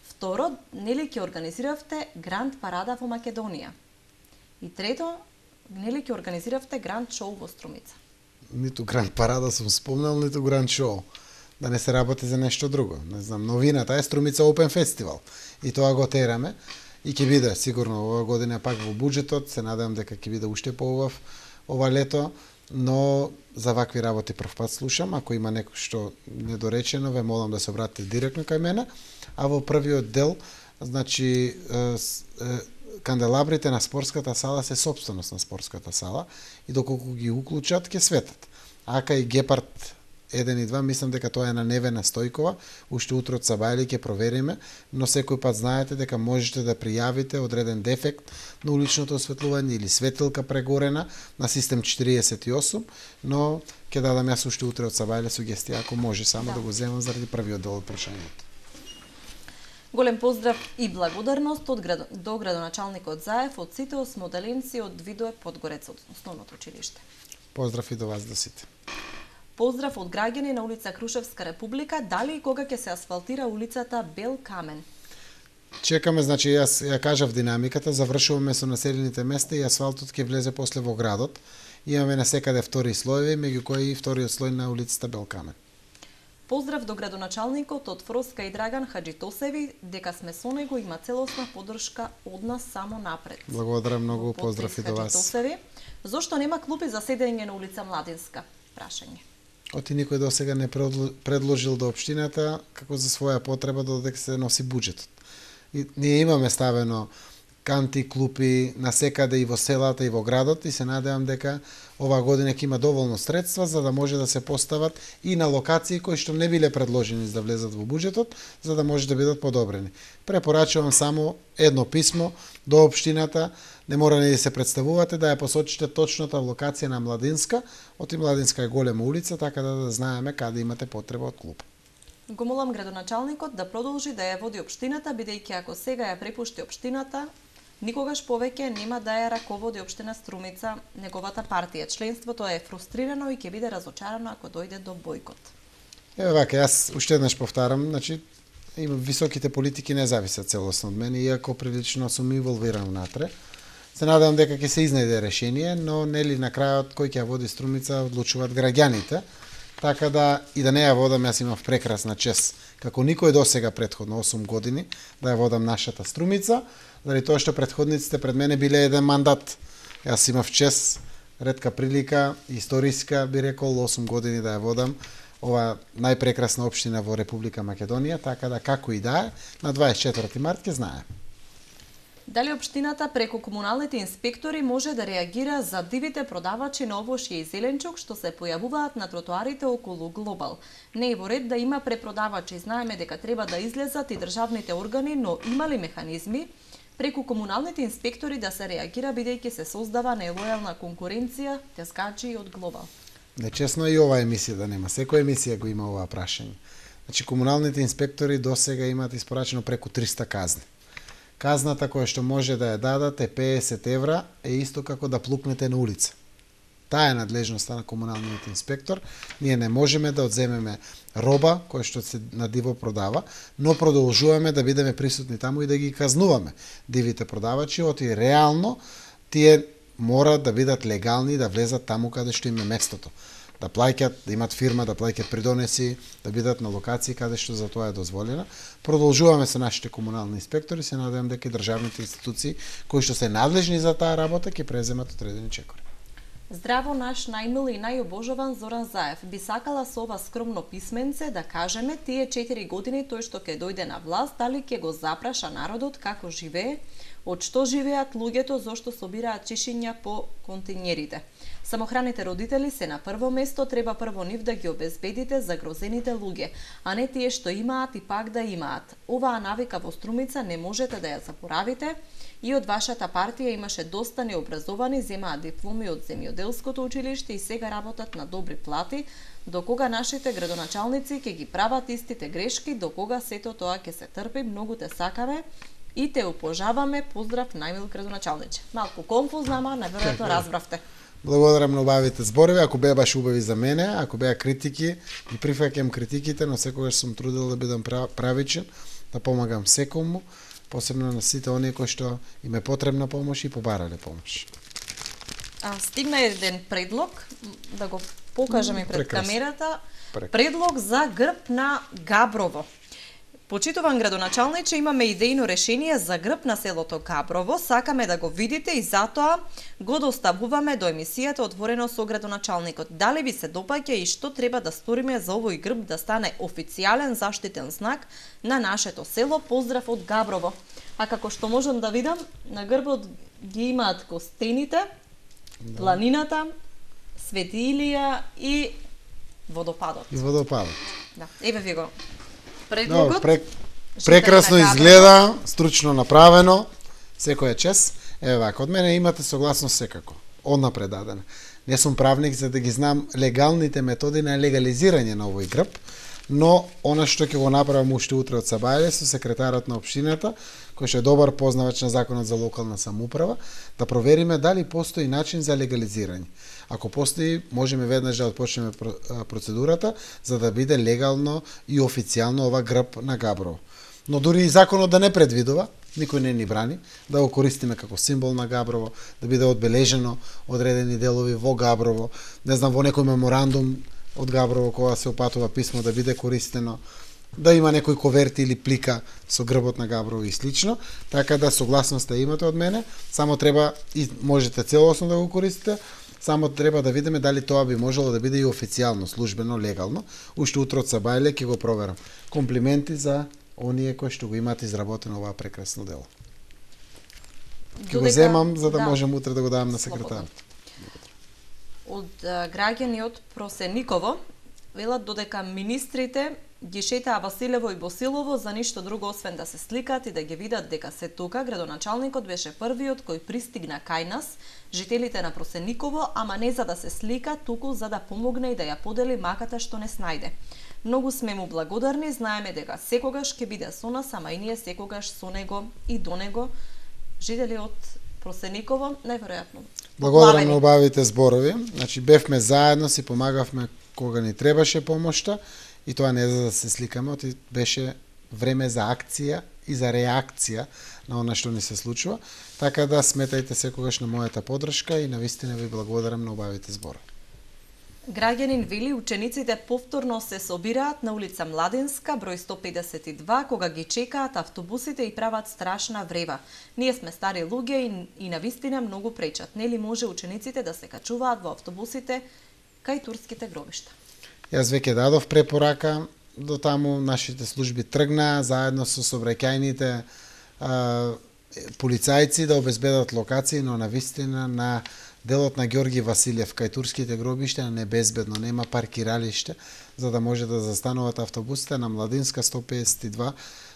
A: Второ, нели ќе организиравте Гранд парада во Македонија? И трето, нели ќе организиравте Гранд шоу во Струмица?
B: Ниту Гранд парада сум спомнал, ниту Гранд шоу. Да не се работи за нешто друго. Не знам, новината е Струмица Open Festival. И тоа го тераме. И ќе биде сигурно ова година пак во буџетот. Се надевам дека ќе биде уште поубав ова лето. Но за вакви работи прв пат слушам. Ако има некој што недоречено, ве молам да се обратите директно кај мене. А во првиот дел, значи, канделабрите на спортската сала се собственост на спортската сала и доколку ги уклучат ќе светат. Ака и Гепард еден и два, мислам дека тоа е на Невена Стојкова, уште утре од сабајле ќе провериме, но секој пат знаете дека можете да пријавите одреден дефект на уличното осветлување или светилка прегорена на систем четириесет и осум, но ќе дадам јас уште утре од сабајле сугестија ако може само да, да го земам заради првиот дел од прашањето.
A: Голем поздрав и благодарност од град... до градоначалникот Заев од сите осмоделенци од Видое Подгорец од основното училиште.
B: Поздрав и до вас, до сите.
A: Поздрав од граѓани на улица Крушевска Република, дали и кога ќе се асфалтира улицата Бел Камен?
B: Чекаме, значи јас ја кажав динамиката, завршуваме со населените места и асфалтот ќе влезе после во градот. Имаме на секаде втори слоеви, меѓу кои и вториот слој на улицата Бел Камен.
A: Поздрав до градоначалникот од Фроска и Драган Хаджитосеви, дека сме со него, има целосна поддршка од нас само напред.
B: Благодарам многу, поздрав и до вас.
A: Зошто нема клупи за седење на улица Младинска? Прашање.
B: Оти никој до сега не предложил до општината како за своја потреба додека се носи буџетот. И ние имаме ставено канти, клупи насекаде и во селата и во градот и се надевам дека оваа година ќе има доволно средства за да може да се постават и на локации кои што не биле предложени за да влезат во буџетот, за да може да бидат подобрени. Препорачувам само едно писмо до општината, не мора ни да се представувате, да ја посочите точната локација на Младинска, оти Младинска е голема улица, така да, да знаеме каде имате потреба од клуб.
A: Го молам градоначалникот да продолжи да ја води општината, бидејќи ако сега ја препушти општината, никогаш повеќе нема да ја раководи општина Струмица, неговата партија. Членството е фрустрирано и ќе биде разочарано ако дојде до бојкот.
B: Еве вака, јас уште еднаш повтарам, значи има високите политики не зависат целосно од мене, иако прилично сум инволвиран внатре. Се надевам дека ќе се изнајде решение, но нели на крајот кој ќе ја води Струмица одлучуваат граѓаните. Така да и да не ја водам, јас имав прекрасна чест, како никој досега претходно осум години, да ја водам нашата Струмица, заради тоа што претходниците пред мене биле еден мандат. Јас имав чест ретка прилика, историска би рекол, осум години да ја водам ова најпрекрасна општина во Република Македонија, така да како и да е, на дваесет и четврти март ќе знае.
A: Дали општината преку комуналните инспектори може да реагира за дивите продавачи на овошје и зеленчук што се појавуваат на тротоарите околу Глобал? Не е во ред да има препродавачи, знаеме дека треба да излезат и државните органи, но има ли механизми преку комуналните инспектори да се реагира бидејќи се создава нелојална конкуренција, тескачи од Глобал?
B: Нечесно и ова емисија да нема. Секоја емисија го има ова прашање. Значи, комуналните инспектори досега имаат испорачено преку триста казни. Казната која што може да ја дадат е педесет евра, е исто како да плукнете на улица. Таа е надлежноста на комуналниот инспектор. Ние не можеме да одземеме роба која што се на диво продава, но продолжуваме да бидеме присутни таму и да ги казнуваме дивите продавачи, оти реално тие мора да бидат легални и да влезат таму каде што им е местото. Да плаќат, да имат фирма, да плаќат придонеси, да бидат на локации каде што за тоа е дозволено. Продолжуваме со нашите комунални инспектори, се надевам дека и државните институции кои што се надлежни за таа работа ќе преземат одредени чекори.
A: Здраво, наш најмил и најобожуван Зоран Заев. Би сакала со ова скромно писменце да кажеме тие четири години тој што ќе дојде на власт, дали ќе го запраша народот како живее, од што живеат луѓето, зошто собираат чишиња по континерите. Самохраните родители се на прво место, треба прво нив да ги обезбедите загрозените луѓе, а не тие што имаат и пак да имаат. Оваа навика во Струмица не можете да ја заборавите. И од вашата партија имаше доста необразовани, земаат дипломи од земјоделското училиште и сега работат на добри плати. До кога нашите градоначалници ќе ги прават истите грешки, до кога сето тоа ќе се трпи, многу те сакаме и те упожаваме. Поздрав, најмил градоначалниче. Малку конфузно, ама наверојатно разбравте.
B: Благодарам на убавите зборови, ако беа баш убави за мене, ако беа критики, ги прифаќам критиките, но секогаш сум трудел да бидам правичен, да помагам секому, посебно на сите оние кои што им е потребна помош и побарале помош.
A: А, стигна еден предлог, да го покажеме пред
B: Прекрасно.
A: камерата.
B: Прекрасно.
A: Предлог за грб на Габрово. Почитуван градоначалниче, имаме идејно решение за грб на селото Габрово. Сакаме да го видите и затоа го доставуваме до емисијата Отворено со градоначалникот. Дали ви се допаѓа и што треба да сториме за овој грб да стане официјален заштитен знак на нашето село? Поздрав од Габрово. А како што можам да видам, на грбот ги имаат костените, да. Планината, Свети Илија и водопадот.
B: И водопадот.
A: Да, еве ви го. Предлогот.
B: No, прек... Прекрасно изгледа, стручно направено, секоја чест. Еве вака, од мене имате согласност секако. Однапред дадена. Не сум правник за да ги знам легалните методи на легализирање на овој грб, но она што ќе го направам уште утре од сабајле со секретарот на општината, кој што е добар познавач на законот за локална самоуправа, да провериме дали постои начин за легализирање. Ако постои, можеме веднаш да отпочнеме процедурата за да биде легално и официјално ова грб на Габрово. Но дури и законот да не предвидува, никој не ни брани да го користиме како символ на Габрово, да биде одбележено одредени делови во Габрово, не знам, во некој меморандум од Габрово кога се опатува писмо да биде користено, да има некој коверти или плика со грбот на Габрово и слично, така да согласноста имате од мене, само треба и можете целосно да го користите, само треба да видиме дали тоа би можело да биде и официјално, службено, легално. Уште утре од сабајле ќе го проверам. Комплименти за оние кои што го имаат изработено оваа прекрасно дело. Ќе го земам за да, да можем утре да го дадам на секретарот.
A: Од граѓани од Просениково велат додека министрите ги шетаа Василево и Босилово за ништо друго освен да се сликаат и да ги видат дека се тука, градоначалникот беше првиот кој пристигна кај нас, жителите на Просениково, ама не за да се слика, туку за да помогне и да ја подели маката што не снајде. Многу сме му благодарни, знаеме дека секогаш ќе биде со нас, ама и ние секогаш со него и до него. Жители од Просениково, најверојатно.
B: Благодарам на убавите зборови. Значи бевме заедно, си помагавме кога ни требаше помошта и тоа не за да се сликаме, оти беше време за акција и за реакција на она што ни се случува. Така да сметајте секогаш на мојата поддршка и навистина ви благодарам на убавите зборови.
A: Граѓанин вели учениците повторно се собираат на улица Младенска, број сто педесет и два, кога ги чекаат автобусите и прават страшна врева. Ние сме стари луѓе и, и навистина многу пречат. Нели може учениците да се качуваат во автобусите кај турските гробишта?
B: Јас веќе дадов препорака, до таму нашите служби тргна заедно со сообраќајните полицајци да обезбедат локации, но навистина на делот на Ѓорги Василев кај турските гробишта не безбедно, нема паркиралиште за да може да застануваат автобусите на Младинска сто педесет и два.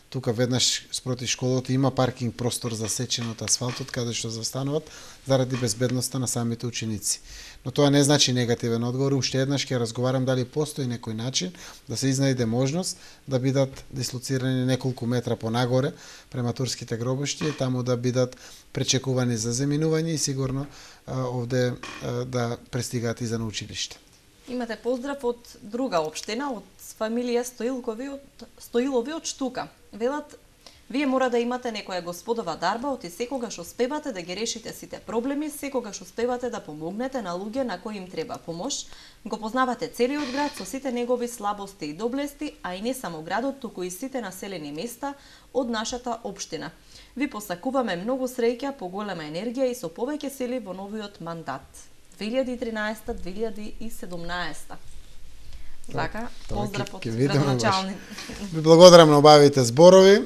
B: Тука веднаш спроти школата има паркинг простор засечен од асфалтот каде што застануваат заради безбедноста на самите ученици. Но тоа не значи негативен одговор. Уште еднаш ќе разговарам дали постои некој начин да се изнајде можност да бидат дислоцирани неколку метра понагоре према турските гробишти и таму да бидат пречекувани за заминување и сигурно а, овде а, да пристигаат и за на училиште.
A: Имате поздрав од друга општина, од фамилија Стоилкови од Стоилови од Штука. Велат, вие мора да имате некоја господова дарба, оти секогаш успевате да ги решите сите проблеми, секогаш успевате да помогнете на луѓе на кои им треба помош, го познавате целиот град со сите негови слабости и доблести, а и не само градот, туку и сите населени места од нашата општина. Ви посакуваме многу среќа, поголема енергија и со повеќе сили во новиот мандат. две илјади и тринаесета - две илјади и седумнаесета. Така, поздрав од градоначалник.
B: Ви благодарам на обавите зборови.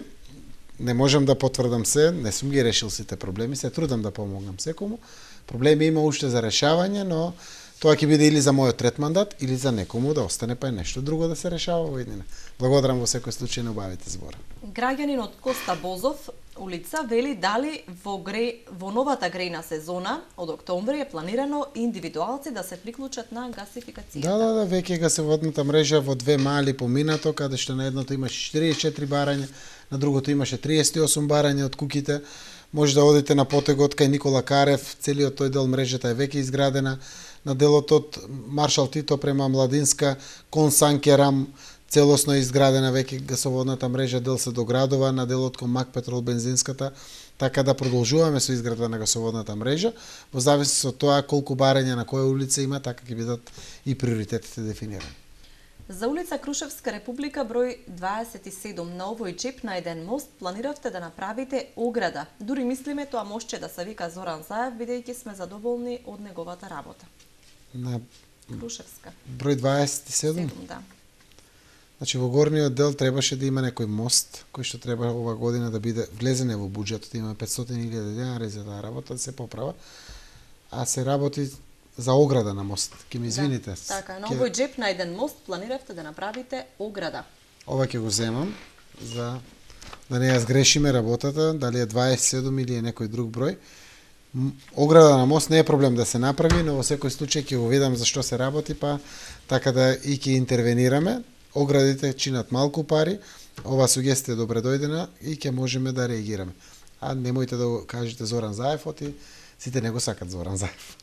B: Не можам да потврдам се, не сум ги решил сите проблеми, се трудам да помогнам секому. Проблеми има уште за решавање, но тоа ќе биде или за мојот трет мандат, или за некому да остане па е нешто друго да се решава во иднина. Благодарам во секој случај на обавите збора.
A: Граѓанин од Коста Бозов улица вели дали во гре во новата грејна сезона од октомври е планирано индивидуалци да се приклучат на гасификацијата.
B: Да, да, да, веќе гасоводната мрежа во две мали поминато, каде што на едното имаше четириесет и четири барања, на другото имаше триесет и осум барања од куќите. Може да одите на потегот кај Никола Карев, целиот тој дел мрежата е веќе изградена. На делот од Маршал Тито према Младинска, кон Санкерам, целосно е изградена веќе гасоводната мрежа, дел се доградува на делот кон Мак Петрол бензинската, така да продолжуваме со изградба на гасоводната мрежа, во зависност од тоа колку барања на која улица има, така ќе бидат и приоритетите дефинирани.
A: За улица Крушевска република број дваесет и седум на овој чеп на еден мост планиравте да направите ограда. Дури мислиме тоа мостче да се вика Зоран Заев, бидејќи сме задоволни од неговата работа.
B: На
A: Крушевска.
B: Број дваесет и седум?
A: седум, да.
B: Значи во горниот дел требаше да има некој мост кој што треба ова година да биде влезене во буџетот, има петстотини илјади денари за таа работа да се поправа, а се работи за ограда на мост. Ке ми извините.
A: Да, така, на овој джеп на еден мост планиравте да направите ограда.
B: Ова ќе го земам за да не ја сгрешиме работата, дали е дваесет и седум или е некој друг број. Ограда на мост не е проблем да се направи, но во секој случај ќе го видам за што се работи, па така да и ќе интервенираме. Оградите чинат малку пари, ова сугестија добре дојдена и ќе можеме да реагираме. А немојте да го кажете Зоран Заев, оти сите не го сакат Зоран Заев.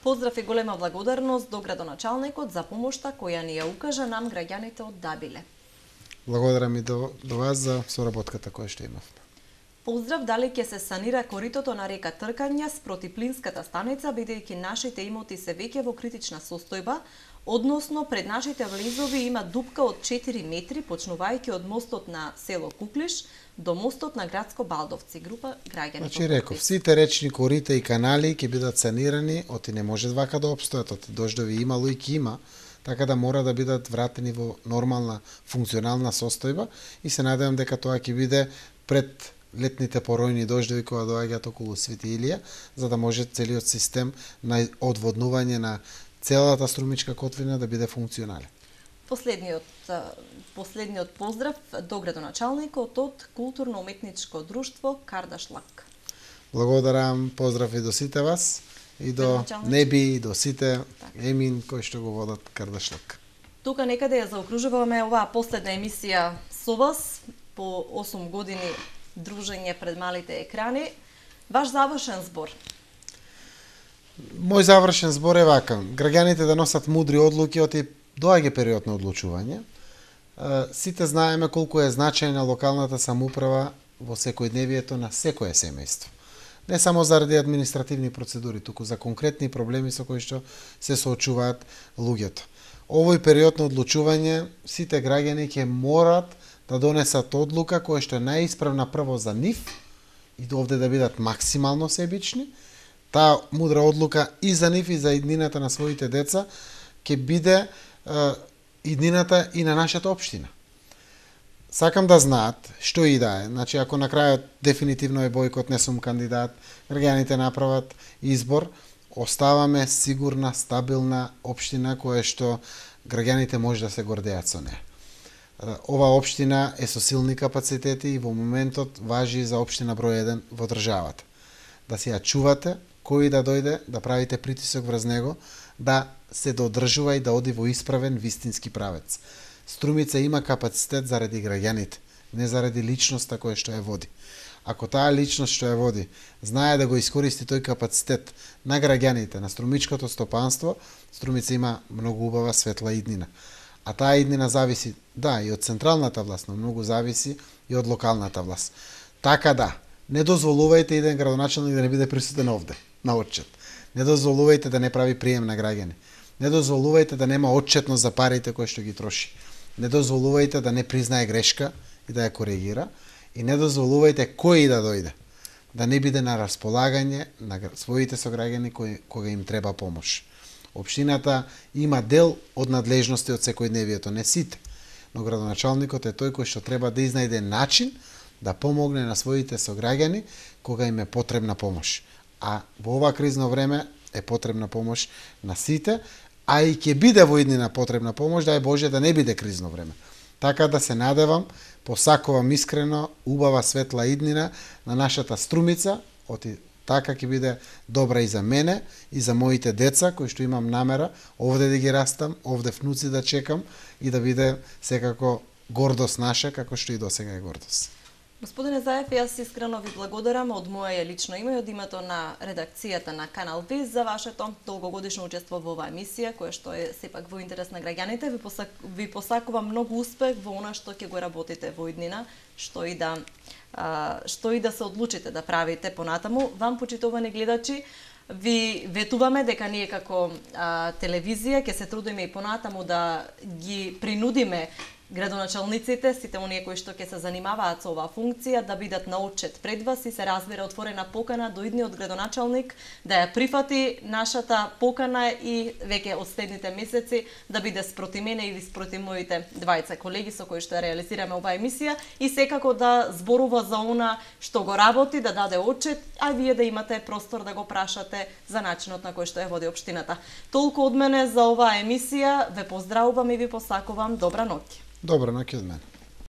A: Поздрав и голема благодарност до градоначалникот за помошта која ни ја укажа нам граѓаните од Дабиле.
B: Благодарам и до, до вас за соработката која што имав.
A: Поздрав, дали ќе се санира коритото на река Тркања спроти плинската станица, бидејќи нашите имоти се веќе во критична состојба, односно пред нашите влезови има дупка од четири метри, почнувајќи од мостот на село Куклиш до мостот на градско Балдовци, група граѓани.
B: Значи реков, сите речни корита и канали ќе бидат санирани, оти не може вака да опстојат, оти дождови имало и ќе има, така да мора да бидат вратени во нормална функционална состојба и се надевам дека тоа ќе биде пред летните поројни дождови кои доаѓаат околу Свети Илија, за да може целиот систем на одводнување на целата струмичка котлина да биде функционален.
A: Последниот последниот поздрав до градоначалникот од културно-уметничко друштво Кардашлак.
B: Благодарам, поздрав и до сите вас и до Неби и до сите Емин кои што го водат Кардашлак.
A: Тука некаде ја заокружуваме оваа последна емисија со вас по осум години дружење пред малите екрани. Ваш завршен збор?
B: Мој завршен збор е вака. Граѓаните да носат мудри одлуки, оти доаѓа период на одлучување. Сите знаеме колку е значајна локалната самоуправа во секојдневието на секое семејство. Не само заради административни процедури, туку за конкретни проблеми со кои што се соочуваат луѓето. Овој период на одлучување, сите граѓани ќе морат да донесат одлука која што е најисправна прво за нив и овде да бидат максимално себични. Таа мудра одлука и за нив и за иднината на своите деца ќе биде е, иднината и на нашата општина. Сакам да знаат што и да е. Значи, ако на крајот дефинитивно е бојкот, не сум кандидат, граѓаните направат избор, оставаме сигурна, стабилна општина која што граѓаните може да се гордеат со неа. Ова општина е со силни капацитети и во моментот важи за општина број еден во државата. Да си ја чувате, кој да дојде, да правите притисок врз него, да се додржува и да оди во исправен вистински правец. Струмица има капацитет заради граѓаните, не заради личноста која што ја води. Ако таа личност што ја води знае да го искористи тој капацитет на граѓаните, на струмичкото стопанство, Струмица има многу убава светла иднина. А таа иднина зависи, да, и од централната власт, но многу зависи и од локалната власт. Така да, не дозволувајте еден градоначелник да не биде присутен овде, на отчет. Не дозволувајте да не прави прием на граѓани. Не дозволувајте да нема отчетност за парите кои што ги троши. Не дозволувајте да не признае грешка и да ја коригира. И не дозволувајте кој да дојде, да не биде на располагање на своите сограѓани кои, кога им треба помош. Општината има дел од надлежности од секојдневието, не сите, но градоначалникот е тој кој што треба да изнајде начин да помогне на своите сограѓани кога им е потребна помош. А во ова кризно време е потребна помош на сите, а и ќе биде во иднина потребна помош, дај Боже да не биде кризно време. Така да се надевам, посакувам искрено, убава светла иднина на нашата Струмица, оти така ќе биде добра и за мене, и за моите деца, кои што имам намера овде да ги растам, овде внуци да чекам и да биде секако гордост наша, како што и досега е гордост.
A: Господине Заев, јас искрено ви благодарам од моје лично име и од името на редакцијата на Канал Виз за вашето долгогодишно учество во оваа емисија, која што е сепак во интерес на граѓаните. Ви, посак, ви посакувам многу успех во она што ќе го работите во иднина, што и да а, што и да се одлучите да правите понатаму. Вам, почитувани гледачи, ви ветуваме дека ние како а, телевизија ќе се трудиме и понатаму да ги принудиме градоначалниците, сите оние кои што ќе се занимаваат со оваа функција, да бидат на отчет пред вас и се разбира отворена покана до идниот градоначалник да ја прифати нашата покана и веќе од следните месеци да биде спроти мене или спроти моите двајца колеги со кои што ја реализираме оваа емисија и секако да зборува за она што го работи, да даде отчет, а вие да имате простор да го прашате за начинот на кој што ја води општината. Толку од мене за оваа емисија, ве поздравувам и ви посакувам добра ноќ.
B: Добра ноќ од мене.